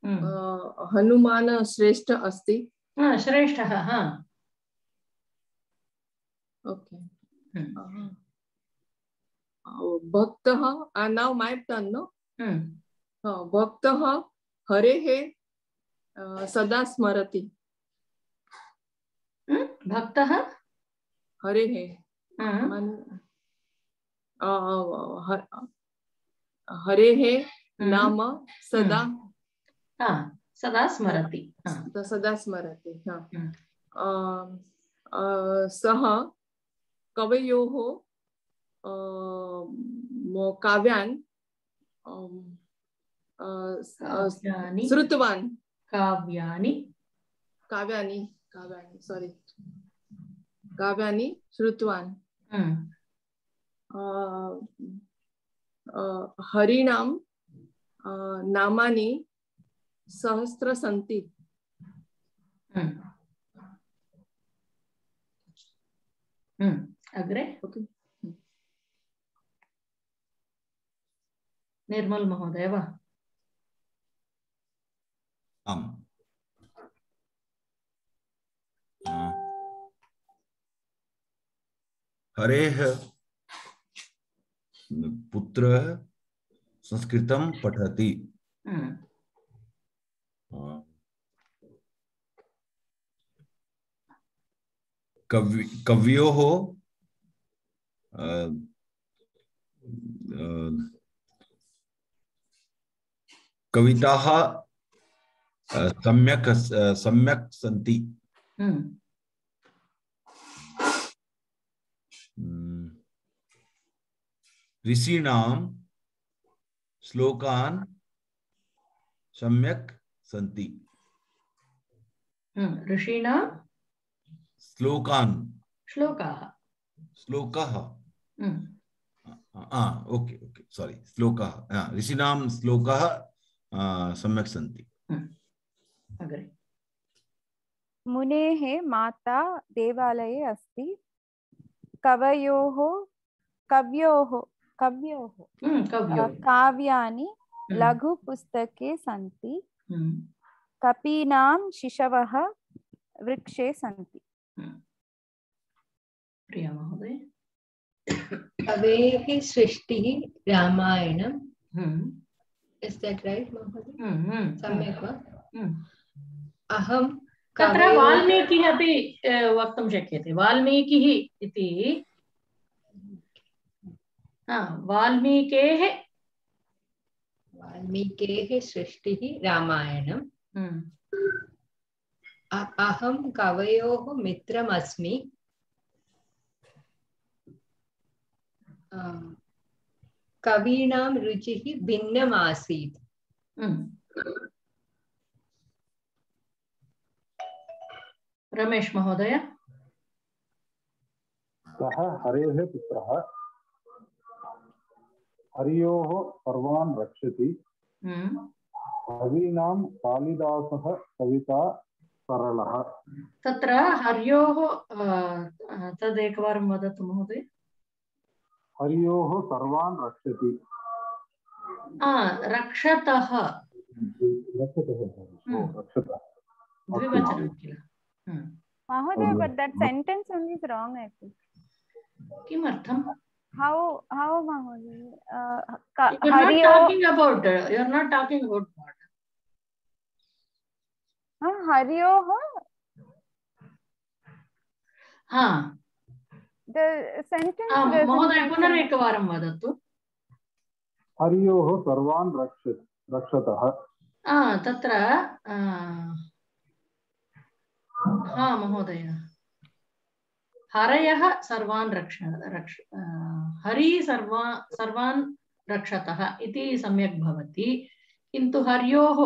Hanuman श्रेष्ठ अस्ति श्रेष्ठः ओके भक्तः now my turn no भक्तः हरेः सदा स्मरति भक्तः हरेः हरेः नाम सदा सदा स्मरति सः कवयोः काव्यान् श्रुतवान् काव्यानि श्रुतवान् हरिणां नामानि सहस्र सन्ति अग्रे निर्मल महोदय वा हरेः पुत्रः संस्कृतं पठति कवयोः कविताः सम्यक् सन्ति ऋषीणां श्लोकान् सम्यक् सन्ति ऋषीणां श्लोकाः ओके सॉरी श्लोकाः ऋषीणां श्लोकाः सम्यक् सन्ति अग्रे मुनेः माता देवालये अस्ति कवयोः काव्यानि लघुपुस्तके सन्ति कपीनां शिशवः वृक्षे सन्ति प्रिया महोदय कवेः सृष्टिः रामायणम् Is that right, Mahoday? सम्यक् वा? अहं तत्र वाल्मीकिः अपि वक्तुं शक्यते वाल्मीकिः इति वाल्मीकेः सृष्टिः रामायणम् अहं कवयोः मित्रमस्मि कवीनां रुचिः भिन्नम् आसीत्। रमेश महोदय। सः हरेः पुत्रः, हर्योः सर्वान् रक्षति। कवीनां कालिदासः कविता सरलः। तत्र हर्योः तदेकवारं वदतु महोदय। हर्योः सर्वान् रक्षति। रक्षतः। रक्षतः द्विवचनं किल? Mahoday, but that sentence only is wrong, I think. किमर्थं? How Mahoday? You're not talking about what? Haryoh. The sentence. महोदय पुनरेकवारं वदतु। हर्योः सर्वान् रक्षतः। तत्र महोदय, हरयः सर्वान् हरि सर्वान् रक्षतः इति सम्यक् भवति, किन्तु हर्योः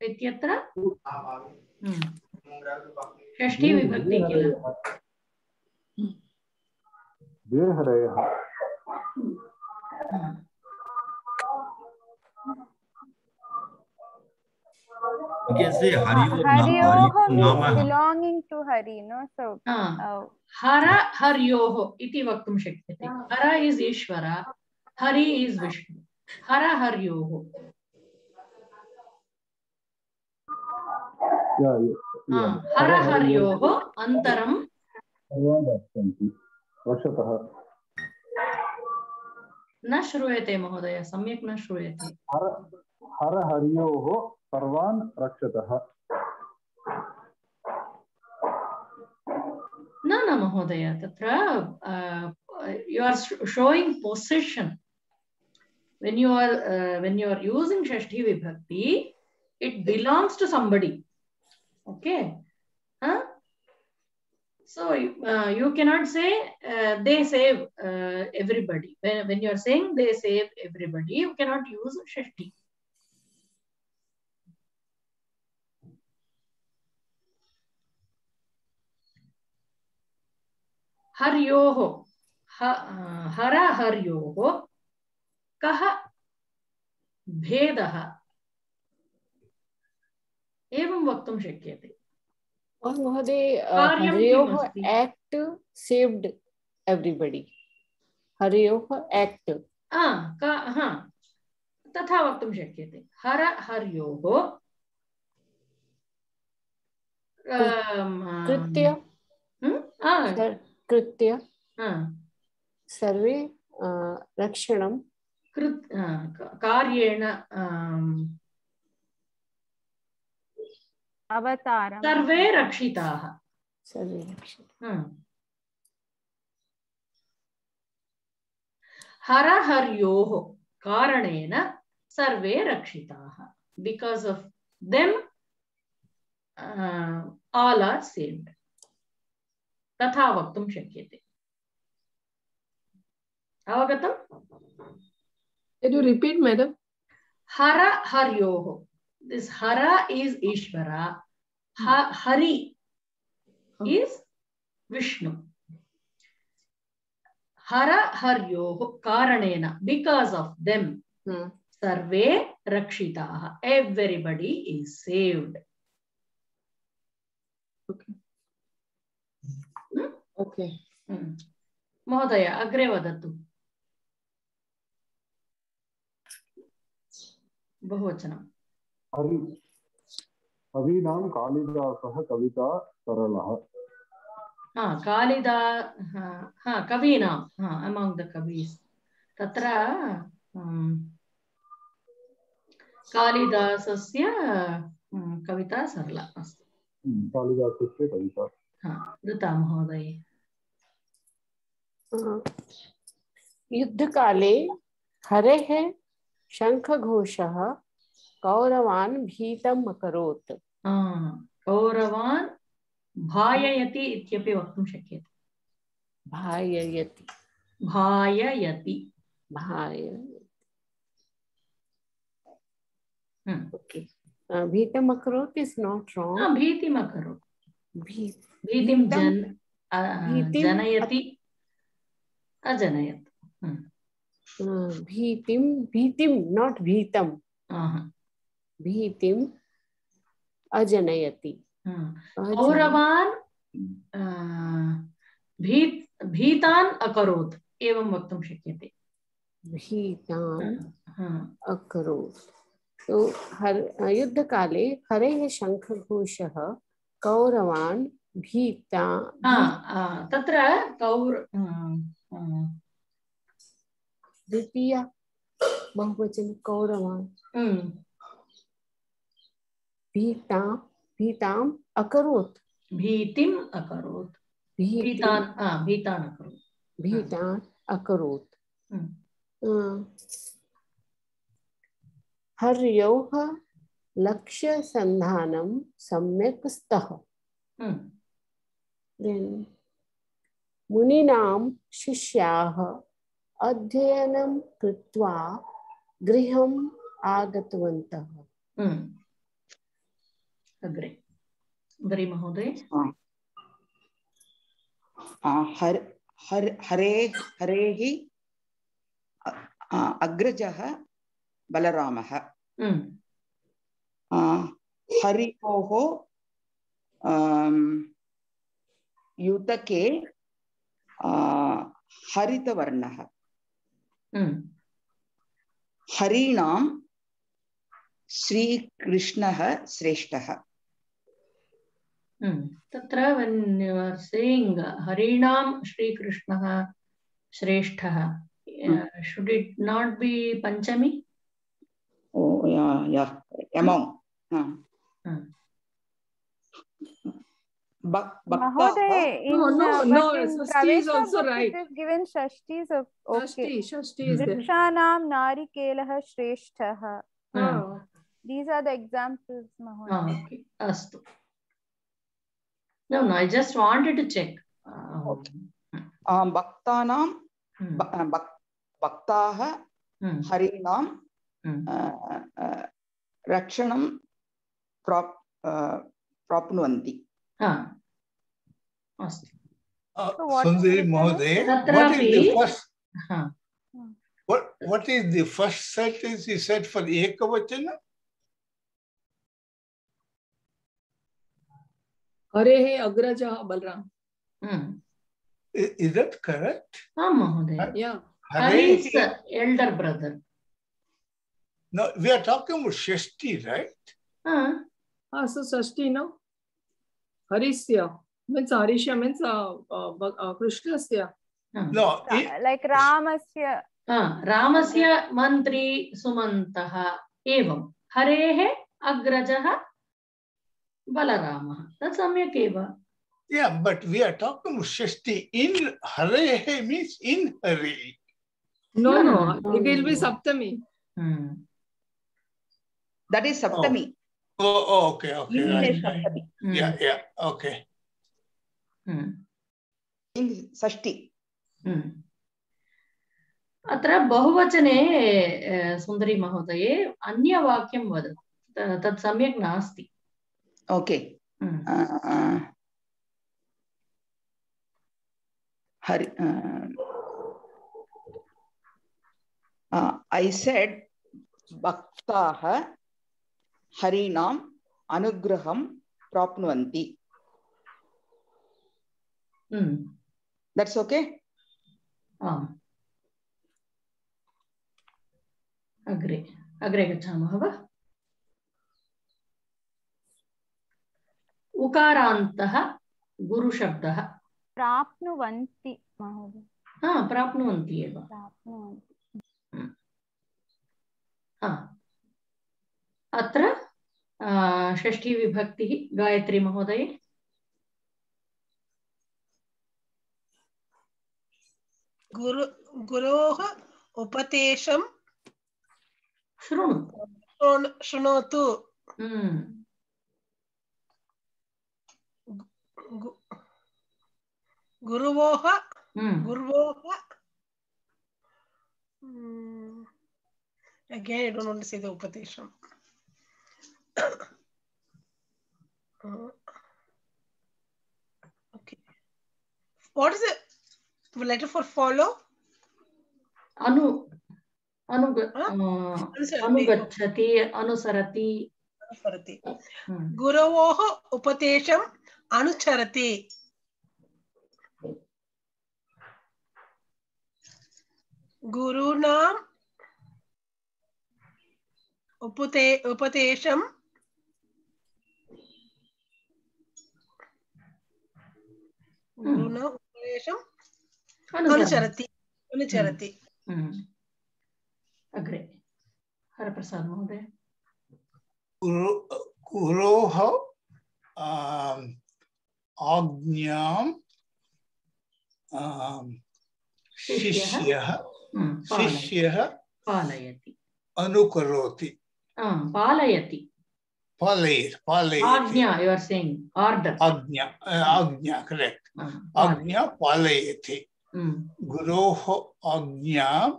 इत्यत्र षष्ठी विभक्ति किल? You can say Haryoh belonging to Hari, no? So Hara Haryoh iti vaktum shakyate. Hara is Ishvara, Hari is Vishnu. Hara Haryoh. Hara Haryoh antaram न श्रूयते महोदय, सम्यक् न श्रूयते। हर हर्योः सर्वान् रक्षतः। न महोदय, तत्र you are showing possession. When you are using Shashti Vibhakti, it belongs to somebody. Okay? So you cannot say they save everybody. When you are saying they save everybody, you cannot use Shashti. Haryoho, hara haryoho, kaha bhedaha. एवं वक्तुं शक्यते। महोदय, हर्योः act saved everybody. हर्योः act. तथा वक्तुं शक्यते। हर हर्योः कृत्य सर्वे रक्षणं कार्येण अवतारं सर्वे रक्षिताः। हर हर्योः कारणेन सर्वे रक्षिताः। Because of them, all are saved. तथा वक्तुं शक्यते। अवगतम्? Can you repeat, madam? Hara haryoho. This hara is Ishvara. Hari is Vishnu. Hara haryoho karanena. Because of them, sarve rakshitaha. Everybody is saved. Okay. महोदय अग्रे वदतु। बहुवचनम्। कवीनां कालिदासः कविता सरलः। कवीनां among the कवीस् तत्र कालिदासस्य कविता सरला अस्ति। कालिदासस्य कविता। ऋता महोदय। युद्धकाले हरेः शङ्खघोषः कौरवान् भीतम् अकरोत्। कौरवान् भाययति इत्यपि वक्तुं शक्यते। भाययति। भाययति। Okay. Bhitam akarot is not wrong. Bhitim akarot. Bhitim janayati ajanayat. Bhitim, not bhitam. Bhitim ajanayati. Kauravan भीतान् अकरोत् एवं वक्तुं शक्यते. भीतान् अकरोत्. तो युद्धकाले हरेः शङ्खघोषः कौरवान् भीता तत्र द्वितीया बहुवचन कौरवान् भीताम् अकरोत्. भीतिम् अकरोत्. भीतान् अकरोत्. हर्योः लक्ष्यसन्धानं सम्यक् स्तः. मुनीनां शिष्याः अध्ययनं कृत्वा गृहम् आगतवन्तः. अग्रे गरी महोदय. हरेः अग्रजः बलरामः. हरियोः युतके हरितवर्णः. हरीणां श्रीकृष्णः श्रेष्ठः. तत्र when you are saying हरीणां श्रीकृष्णः श्रेष्ठः, should it not be panchami? Oh yeah, among. Mahoday, no, Shashti is also right. It is given Shashti is okay. Shashti is there. Vrikshanam narikelah shrestha. These are the examples, Mahoday. Okay, astu. No, I just wanted to check. Okay. Bhaktanam Bhaktaha Harinam Rakshanam Prapnuvanti. Sundari Mahoday, what is the first sentence you said for Ekavachana? Harehe Agraja Balram. Is that correct? Mahoday. Yeah. Hari's elder brother. No, we are talking about Shashti, right? So Shashti, no? Harisya. Means Harisya means Krishnasya. No. Like Ramasya. Ramasya mantri sumantaha evam. Harehe agrajaha Balarama. That's samyak eva. Yeah, but we are talking about Shashti. In Harehe means in Hare. No. It will be Saptami. That is Saptami. Oh, okay. Right. Yeah, okay. In Shashti. अत्र बहुवचने सुन्दरी महोदये अन्यवाक्यं वदतु. तत् सम्यक् नास्ति. Okay. I said Bhaktaha Harinam Anugraham Prapnuvanti. That's okay? Agre gachamah va. Ukarantah guru shabdah. Prapnuvanti, Mahoday. Prapnuvanti eva. अत्र षष्ठी विभक्तिः गायत्री महोदये. गुरोः उपदेशं शृणोतु. गुरोः Again, I don't want to say the Upatesham. Okay. What is the letter for follow? अनुगच्छति अनुसरति गुरवोः उपदेशम् अनुचरति गुरूणाम् उपदेशम् अनुचरति अनुचरति अग्रे हरप्रसाद महोदय गुरोः आज्ञां शिष्यः पालयति अनुकरोति पालयति आज्ञा you are saying order आज्ञा correct आज्ञा पालयति गुरोः आज्ञां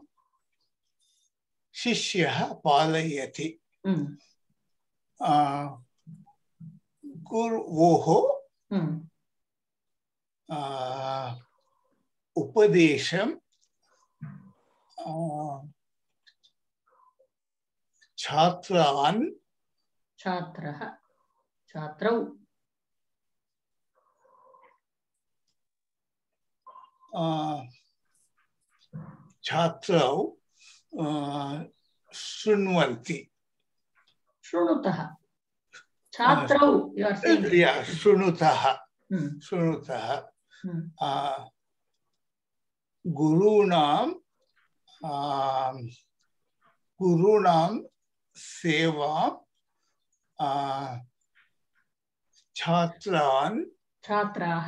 शिष्यः पालयति गुरोः उपदेशं छात्रौ शृण्वन्ति शृणुतः छात्रौ you are saying शृणुतः गुरूणां सेवां छात्राः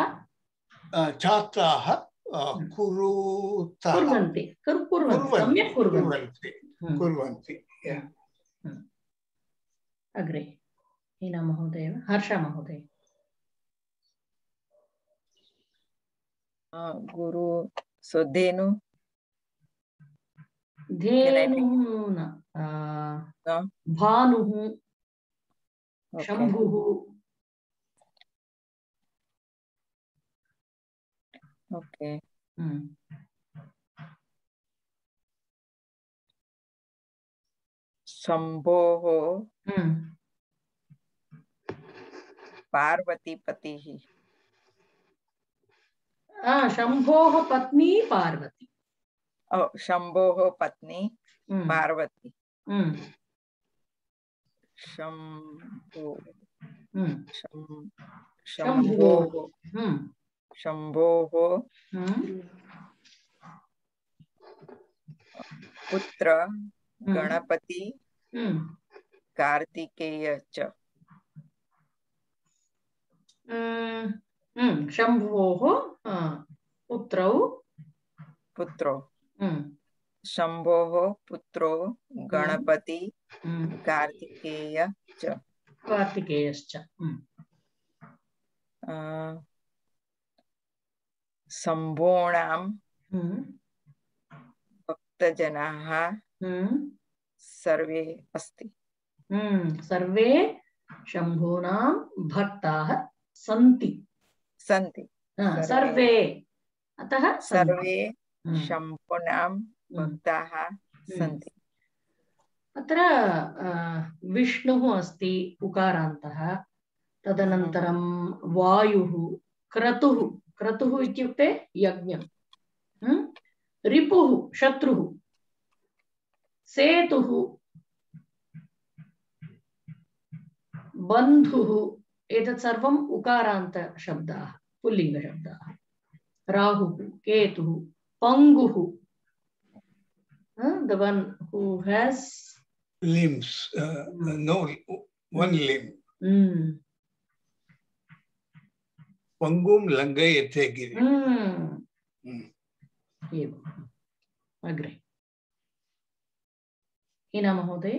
कुर्वन्ति अग्रे हीना महोदय हर्ष महोदय गुरु so धेनु भानुः शंभुः okay शंभोः पार्वती पतिः शंभोः पत्नी पार्वती शंभोः पत्नी पार्वती शंभोः पुत्र गणपति कार्तिकेय च शंभोः पुत्रौ शंभोः पुत्रो गणपति कार्तिकेयश्च शंभोणां भक्तजनाः सर्वे अस्ति सर्वे शंभूनां भक्ताः सन्ति सर्वे अतः सर्वे शंभूनां भक्ताः सन्ति अत्र विष्णुः अस्ति उकारान्तः तदनन्तरं वायुः क्रतुः इत्युक्ते यज्ञं रिपुः शत्रुः सेतुः बन्धुः एतत् सर्वम् उकारान्त शब्दाः पुल्लिङ्गशब्दाः राहुः केतुः पंगुः the one who has limbs no one limb pangum langayate giri अग्रे हीना महोदय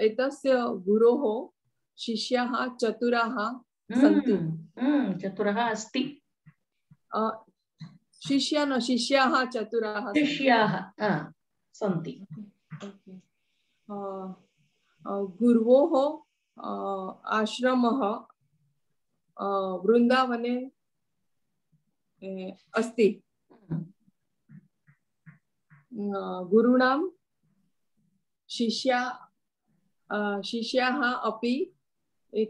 एतस्य गुरोः शिष्याः चतुराः सन्ति चतुरः अस्ति शिष्या न शिष्याः चतुराः शिष्याः सन्ति। गुरोः आश्रमः वृन्दावने अस्ति। गुरूणां शिष्याः अपि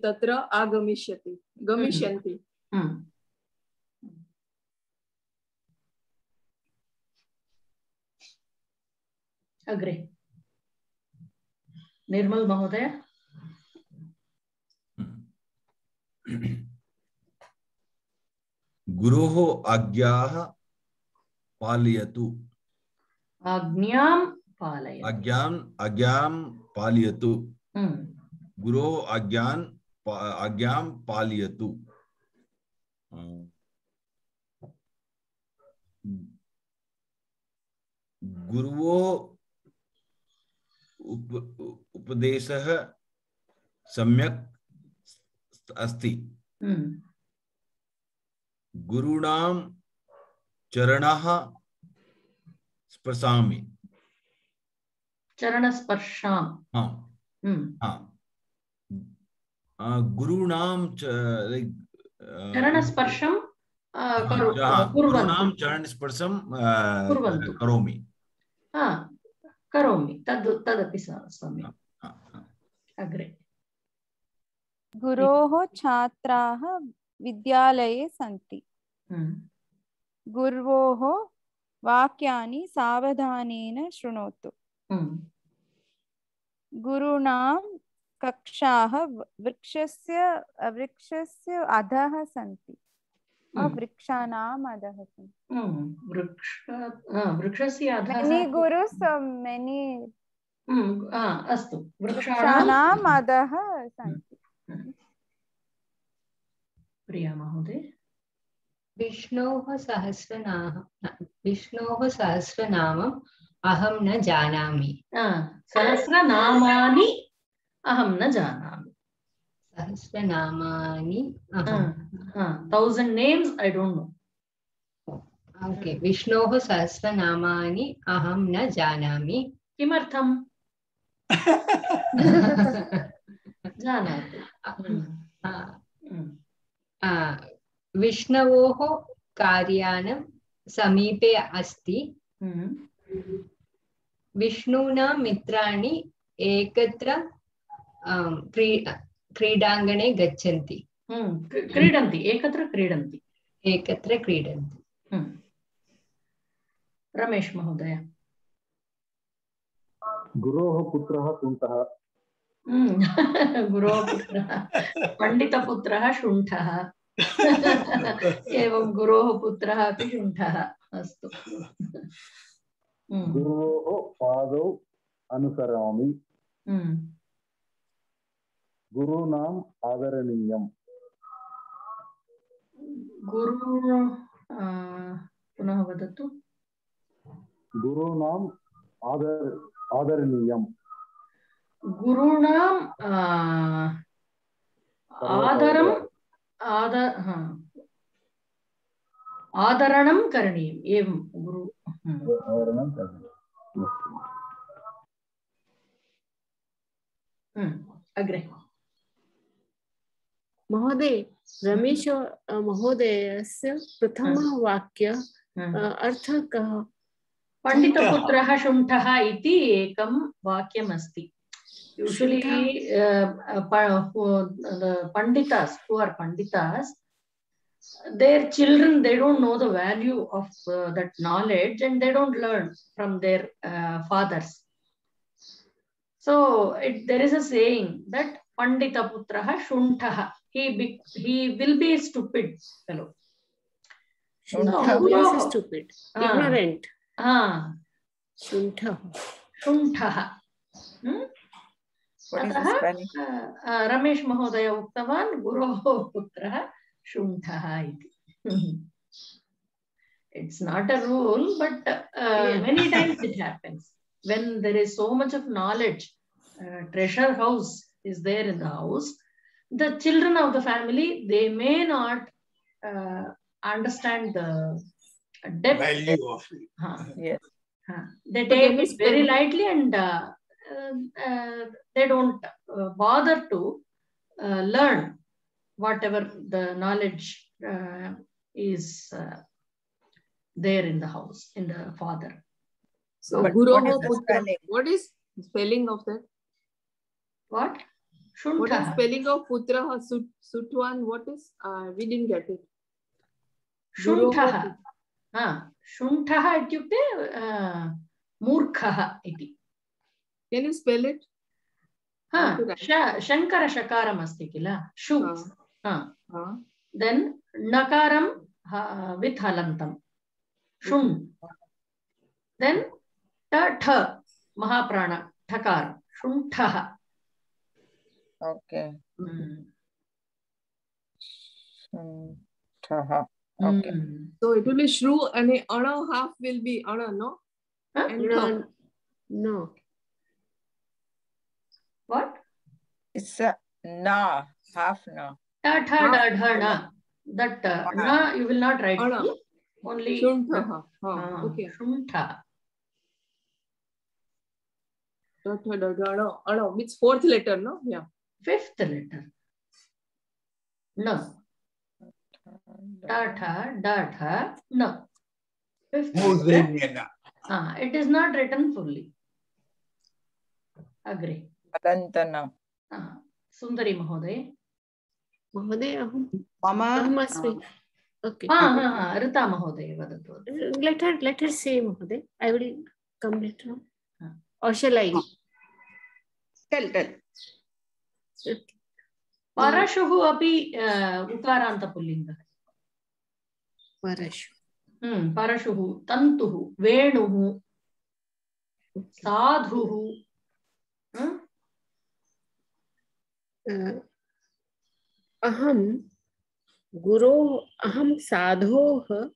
तत्र गमिष्यन्ति। अग्रे निर्मल महोदय। गुरोः आज्ञाः पालयतु। आज्ञां पालयतु। गुरोः आज्ञां पालयतु। गुरोः उपदेशः सम्यक् अस्ति। गुरूणां चरणः स्पर्शामि। चरणस्पर्शां। गुरूणां चरणस्पर्शं गुरूणां चरणस्पर्शं करोमि। करोमि तदपि सम्यक्। अग्रे गुरोः छात्राः विद्यालये सन्ति। गुरोः वाक्यानि सावधानेन शृणोतु। गुरूणां कक्षाः वृक्षस्य अधः सन्ति। वृक्षाणाम् अधः सन्ति। वृक्षस्य अधः many gurus many अस्तु वृक्षाणाम् अधः सन्ति। प्रिया महोदय। विष्णोः सहस्रनामम् अहं न जानामि। सहस्रनामानि अहं न जानामि। सहस्रनामानि 1000 names I don't know. Okay, विष्णोः सहस्रनामानि अहं न जानामि। किमर्थम्? जानातु। विष्णोः कार्यानं समीपे अस्ति। विष्णुना मित्राणि एकत्र क्रीडाङ्गणे गच्छन्ति। एकत्र क्रीडन्ति। रमेश महोदय। गुरोः पुत्रः शुण्ठः। गुरोः पुत्रः पण्डितपुत्रः शुण्ठः। एवं गुरोः पुत्रः अपि शुण्ठः। अस्तु। गुरोः पादौ अनुसरामि। गुरूणाम् आदरणीयम्। पुनः वदतु। गुरूणाम् आदरणीयम्। गुरूणाम् आदरणं करणीयम्। एवं गुरु अग्रे महोदय। रमेश महोदयस्य प्रथमः वाक्य अर्थः कः? पण्डितपुत्रः शुण्ठः इति एकं वाक्यमस्ति। Usually panditas who are panditas, their children, they don't know the value of that knowledge and they don't learn from their fathers. So there is a saying that Pandita Putraha Shunthaha, he will be a stupid fellow. Means stupid, ignorant. Shunthaha. अतः रमेश महोदय उक्तवान् गुरोः पुत्रः शुण्ठः इति. It's not a rule, but many times it happens when there is so much of knowledge. Treasure house is there in the house. The children of the family, they may not understand the depth. Value of it. Yes. They take it very lightly, and they don't bother to learn whatever the knowledge is there in the house, in the father. So Guroho Putra. What is spelling of that? What? What is spelling of Putra? Sutwan? What is? We didn't get it. Shuntah. Shuntah ityukte मूर्खः इति. Can you spell it? Shankar शकारम अस्ति किल, शु. Then nakaram with halantam, shun. Then tha mahaprana thakar, shuntah. Okay. Shuntah. Okay. So it will be shru and ana half will be ana, no? No. What? It's a na, half na. Ta tha da dha na. That na you will not write. Only shuntah. Okay. Shuntah. Ta tha da dha na. Ana means fourth letter, no? Yeah. Fifth letter. No. Ta tha da dha na. Fifth letter. It is not written fully. Agree. Adantana. Sundari Mahoday. Mahoday, Mama. Okay. Rita Mahoday. Let her say, Mahoday. I will come later on. Or shall I? Tell. Parashuhu api ukaranta pullinga. Parashu. Parashuhu, tantuhu, venuhu, sadhuhu. Aham sadhoh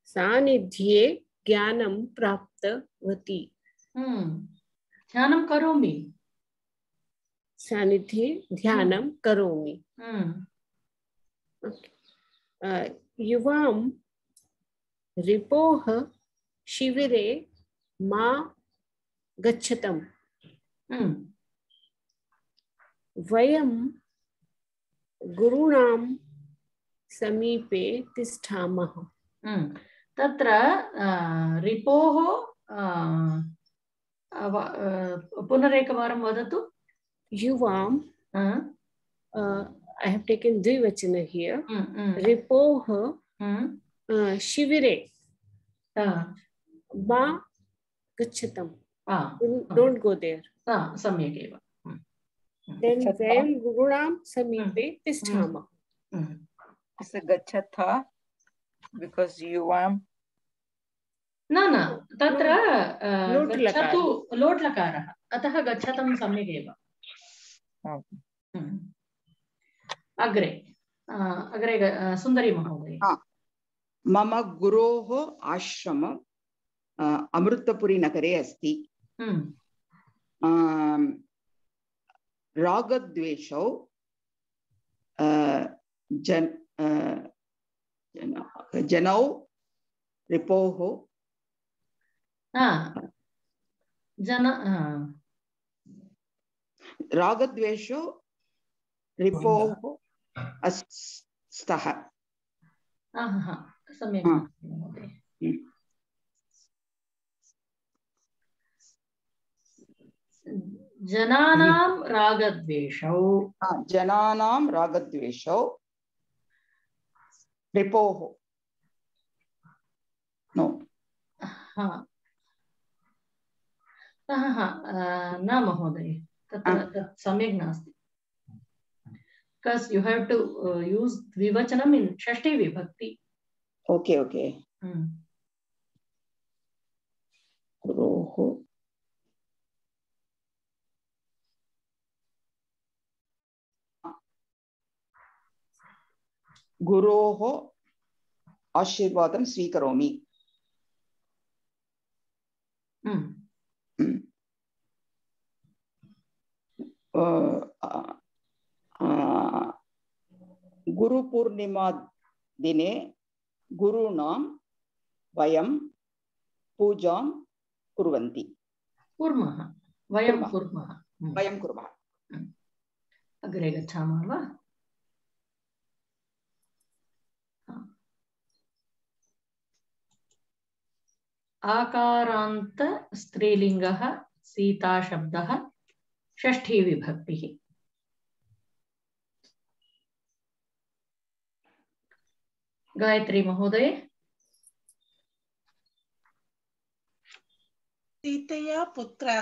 sanidhye jnanam praptavati. Dhyanam karomi. Sanidhye dhyanam karomi. Yuvam रिपोह शिविरे मा गच्छतम. वयम गुरुणाम समीपे तिष्ठामः. तत्र रिपोह पुनरेकवारं वदतु. युवाम I have taken द्विवचन here. रिपोह शिविरे मा गच्छतम. Don't go there. सम्यक् एव. Then वयं गुरुणां समीपे तिष्ठामः. It's a gachatha because युवाम. न तत्र गच्छतु लोट् लकारः, अतः गच्छतं सम्यक् एव. अग्रे सुन्दरी महोदय. मम गुरोः आश्रमम् अमृतपुरी नगरे अस्ति. रागद्वेषौ जनौ रिपोः रागद्वेषौ रिपोः स्तः. सम्यक् महोदय. जनानां रागद्वेषौ रिपोः नो न महोदय, तत् सम्यक् नास्ति. Because you have to use dvivachanam in shashti vibhakti. Okay. गुरोः आशीर्वादं स्वीकरोमि. गुरुपूर्णिमा दिने गुरूणां वयं पूजां कुर्वन्ति कुर्मः वयं कुर्मः वयं कुर्मः अग्रे गच्छामः वा आकारान्त स्त्रीलिङ्गः सीता शब्दः षष्ठी विभक्तिः गायत्री महोदय सीतया पुत्रौ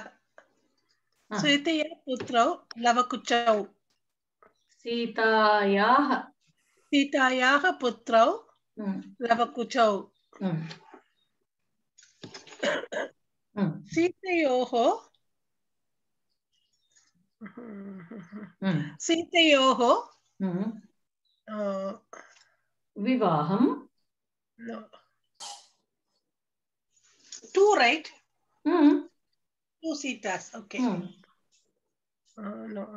लवकुचौ सीतायाः पुत्रौ लवकुचौ सीतयोः विवाहं two, right? Two Sitas, okay. No,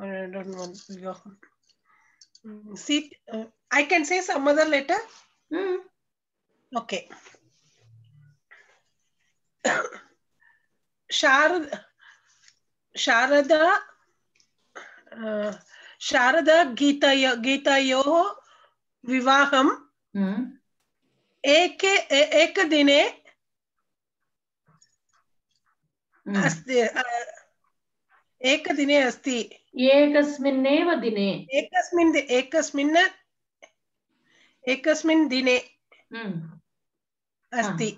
I don't want Vivaham. I can say some other letter? Okay. Sharada Gitayoh Vivaham एकदिने अस्ति एकदिने अस्ति एकस्मिन्नेव दिने एकस्मिन् दिने अस्ति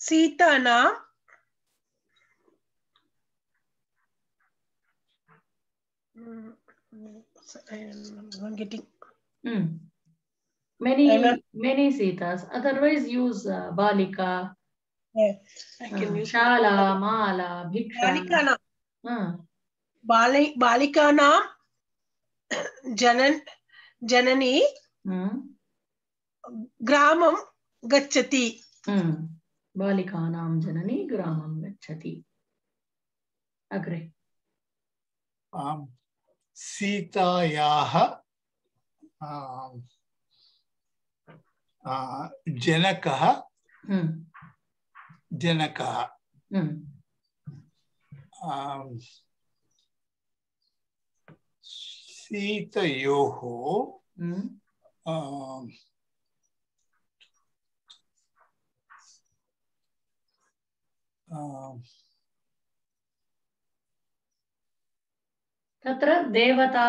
सीतानां I'm getting many Sitas. Otherwise, use Balika. Yeah, I can use Shala, Mala, Bhiksha. Balikanam Janani Gramam Gachati. Balikanam Janani Gramam Gachati. Agree. सीतायाः जनकः सीतयोः तत्र देवता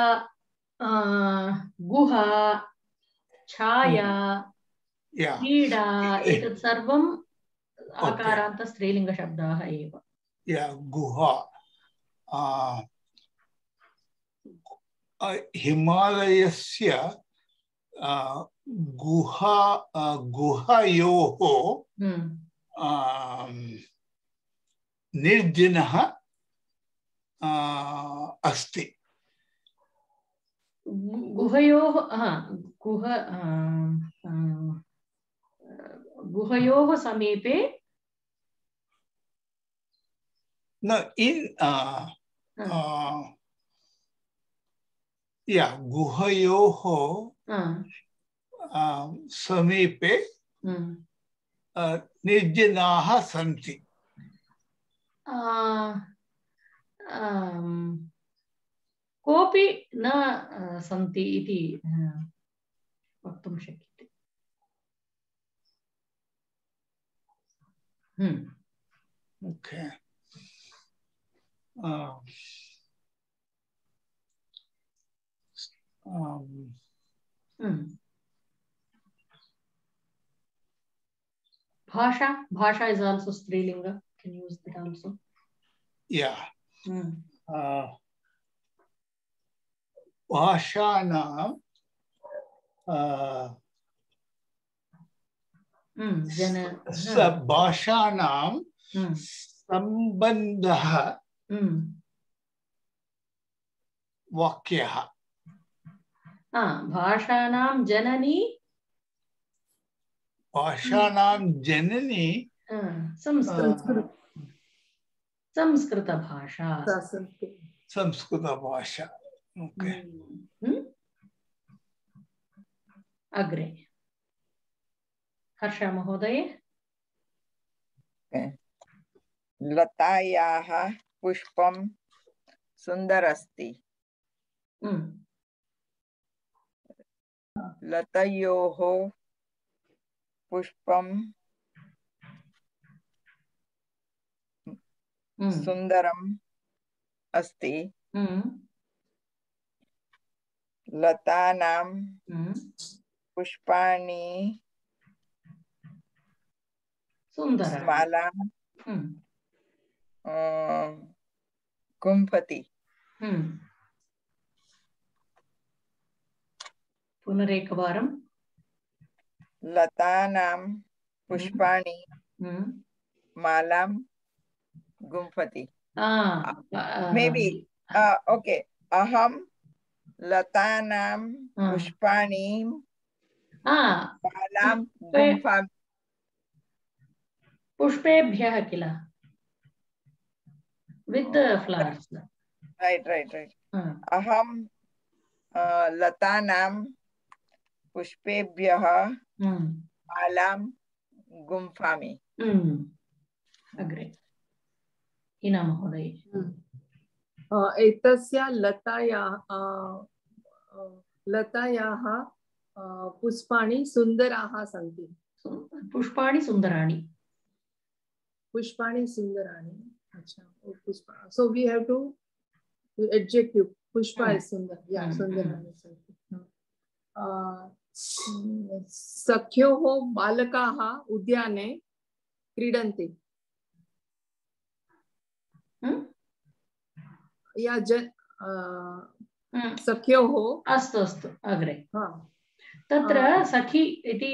गुहा छाया क्रीडा एतत् सर्वम् आकारान्त स्त्रीलिङ्गशब्दाः एव गुहा हिमालयस्य गुहायोः निर्जनः अस्ति गुहयोः समीपे न in गुहयोः समीपे निर्जनाः सन्ति कोऽपि न सन्ति इति वक्तुं शक्यते Okay. Bhasha is also Strilinga. Can you use that also? Yeah. Bhashanam Bhashanam Sambandha Vakyah. Bhashanam Janani Bhashanam Janani Samskrita Bhasha. Samskrita Bhasha. Okay. अग्रे हर्षा महोदय. लतायाः पुष्पं सुन्दरस्ति. लतयोः पुष्पं सुन्दरम् अस्ति. लतानां पुष्पाणि मालां गुम्फति. पुनरेकवारं. लतानां पुष्पाणि मालां गुम्फति. Maybe okay. अहं लतानां पुष्पाणि मालां गुम्फामि. पुष्पेभ्यः किल, with the flowers. Right. अहं लतानां पुष्पेभ्यः मालां गुम्फामि. अग्रे हिना महोदय. एतस्य लतायाः पुष्पाणि सुन्दराः सन्ति. पुष्पाणि सुन्दराणि. पुष्पाणि सुन्दराणि. अच्छा, पुष्पा. So we have to adjective. Pushpa is sundar. Yeah, sundarani santi. सख्योः बालकाः उद्याने क्रीडन्ति. या सख्योः. अस्तु अस्तु अग्रे. तत्र सखी इति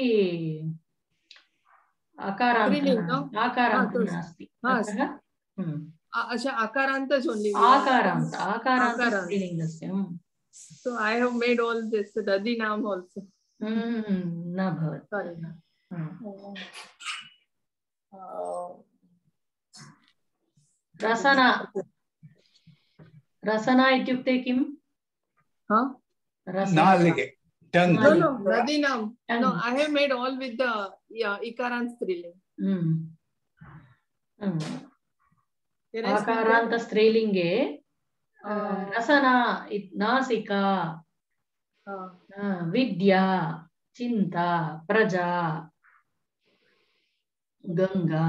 आकारान्त नास्ति. अच्छा, आकारान्त only. आकारान्त स्त्रीलिङ्गस्य. So I have made all this dadinam also. न भवति. Sorry. रसना इत्युक्ते किं? नालिगे. No, dadinam. No, I have made all with the ikarant striling. आकारान्त स्त्रीलिङ्गे रसना नासिका विद्या चिन्ता प्रजा गंगा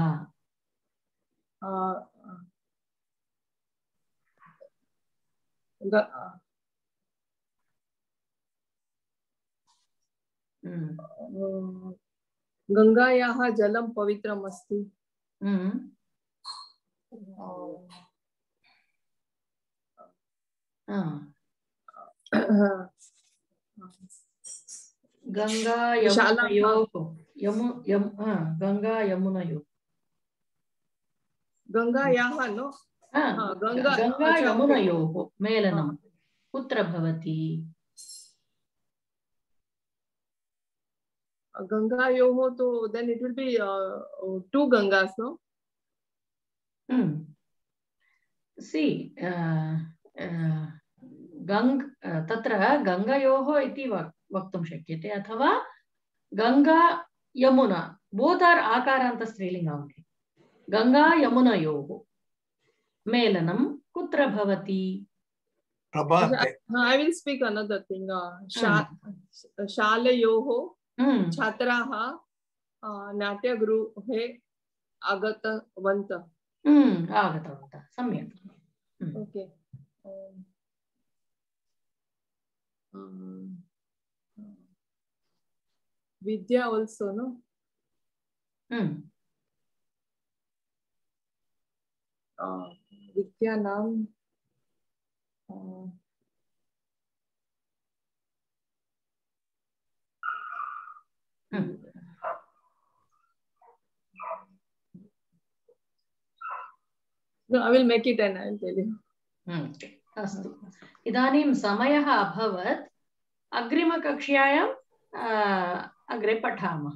गंगायाः जलं पवित्रम् अस्ति. गंगा यमुनयोः गंगा यमुनयोः गंगायाः नो गंगा यमुनयोः मेलनं कुत्र भवति? गंगायोः तो then it will be two Gangas, no? See, तत्र गंगायोः इति वक्तुं शक्यते अथवा Ganga Yamuna both are आकारान्त स्त्रीलिङ्ग only. Ganga यमुनयोः मेलनं कुत्र भवति? I will speak another thing. शालयोः छात्राः नाट्यगृहे आगतवन्तः. सम्यक्. Okay. Vidya also, no? Vidya naam No, I will make it and I will tell you. अस्तु. इदानीं समयः अभवत्. अग्रिमकक्ष्यायां अग्रे पठामः.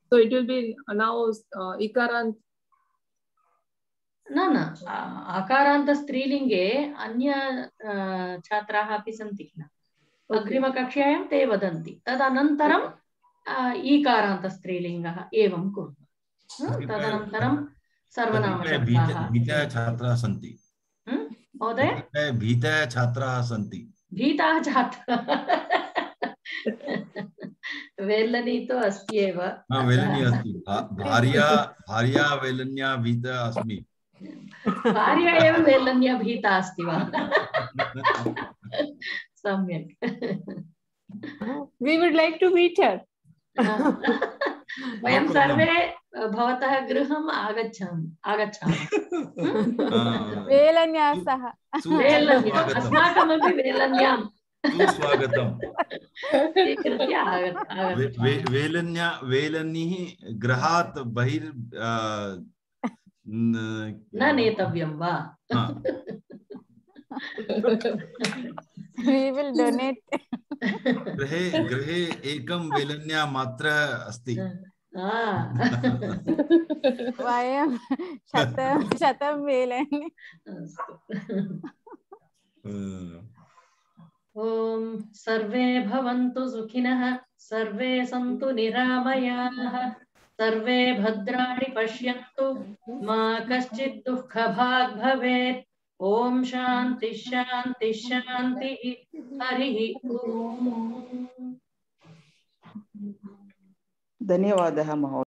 So it will be now ikarant न न आकारान्त स्त्रीलिङ्गे अन्य छात्राः अपि सन्ति किल अग्रिमकक्षायां ते वदन्ति तदनन्तरं ईकारान्त स्त्रीलिङ्गः एवं कुर्मः तदनन्तरं सर्वनामशब्दाः छात्राः सन्ति महोदय भीतः छात्राः सन्ति भीताः छात्राः वेलनी तो अस्ति एव वेलनी अस्ति भार्या वेलन्या भीता अस्मि भार्या एव वेलन्या भीता अस्ति वा सम्यक् we would like to meet her वयं सर्वे भवतः गृहम् आगच्छामः वेलन्यासः अस्माकमपि वेलन्यां स्वागतम् वेलन्यः गृहात् बहिर् न नेतव्यं वा we will donate गृहे एकं वेलन्या मात्र अस्ति वयं शतं वेलन्य ॐ सर्वे भवन्तु सुखिनः सर्वे सन्तु निरामयाः सर्वे भद्राणि पश्यन्तु मा कश्चित् दुःखभाग् भवेत् ॐ शान्ति शान्ति शान्तिः हरिः ॐ धन्यवादः महोदय।